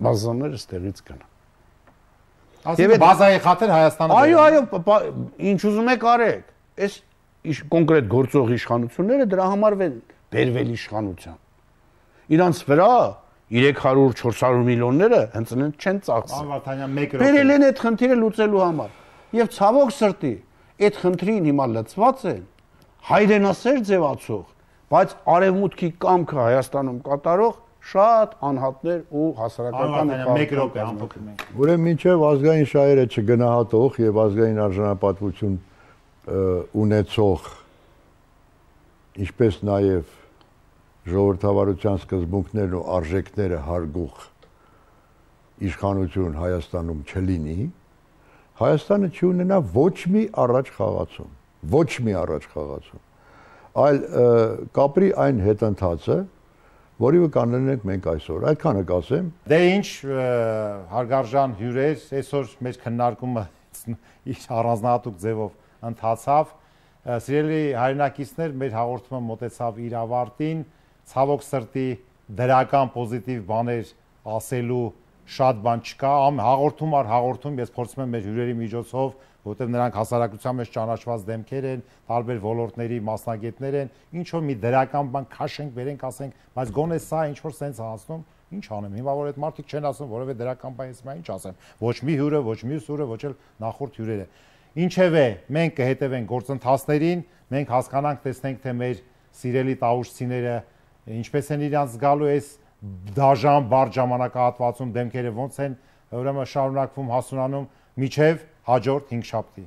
բազաները ստեղից գնան։ Ասում եք բազայի խաթր Հայաստանը։ Այո, ինչ ուզում եք արեք։ Այս կոնկրետ գործող իշխանությունները դրա համար բերվել իշխանության։ Իրանց վրա 300-400 միլիոնները հենց չեն ծախսել։ Անվարդանյան 1 րոպե։ Բերել են այդ խնդիրը լուծելու համար։ Եվ ցավոք սրտի, այդ խնդրին հիմա լծված են հայրենասեր ձևացող, բայց արևմուտքի կամքը Հայաստանում կատարող շատ անհատներ ու հասարակական 1 րոպե ամփոփում ենք։ Ուրեմն մինչև ազգային շահերը չգնահատող եւ ազգային արժանապատվություն ունեցող, ինչպես նաեւ ժողովրդավարության սկզբունքներն ու արժեքները հարգող իշխանություն Հայաստանում չլինի, Հայաստանը չի ունենա ոչ մի առաջ խաղացում, այլ կապրի այն հետընթացը, որի կանոնենք մենք այսօր, այդքանը կասեմ։ Դե ինչ հարգարժան հյուրեր, այսօր մեր քննարկումը իր առանձնահատուկ ձևով ընթացավ։ Սիրելի հայրենակիցներ, մեր հաղորդումը մոտեցավ իր ավարտին, ցավոք սրտի դրական պոզիտիվ բաներ ասելու շատ բան չկա, հաղորդում, ես փորձում եմ մեր հյուրերի միջոցով, որտեղ նրանք հասարակության մեջ ճանաչված դեմքեր են, տարբեր ոլորտների մասնագետներ են, ինչ որ մի դրական բան քաշենք, վերենք, ասենք, բայց գոնե սա ինչ որ սենց հասնում Ինչ անեմ, հիմա որ այդ մարդիկ չեն ասում, որովհետեւ դրական բանից մա ինչ ասեմ։ Ոչ մի հյուրը, ոչ մյուս հյուրը, ոչ էլ նախորդ հյուրերը։ Ինչևէ, մենք կհետևենք գործընթացներին, մենք հասկանանք, տեսնենք, թե մեր սիրելի տաղուշցիները ինչպես են իրանց զգալու այս դաժան բարդ ժամանակահատվածում դեմքերը ոնց են ուրեմն շարունակվում հասունանում միջև հաջորդ 5 շաբթի։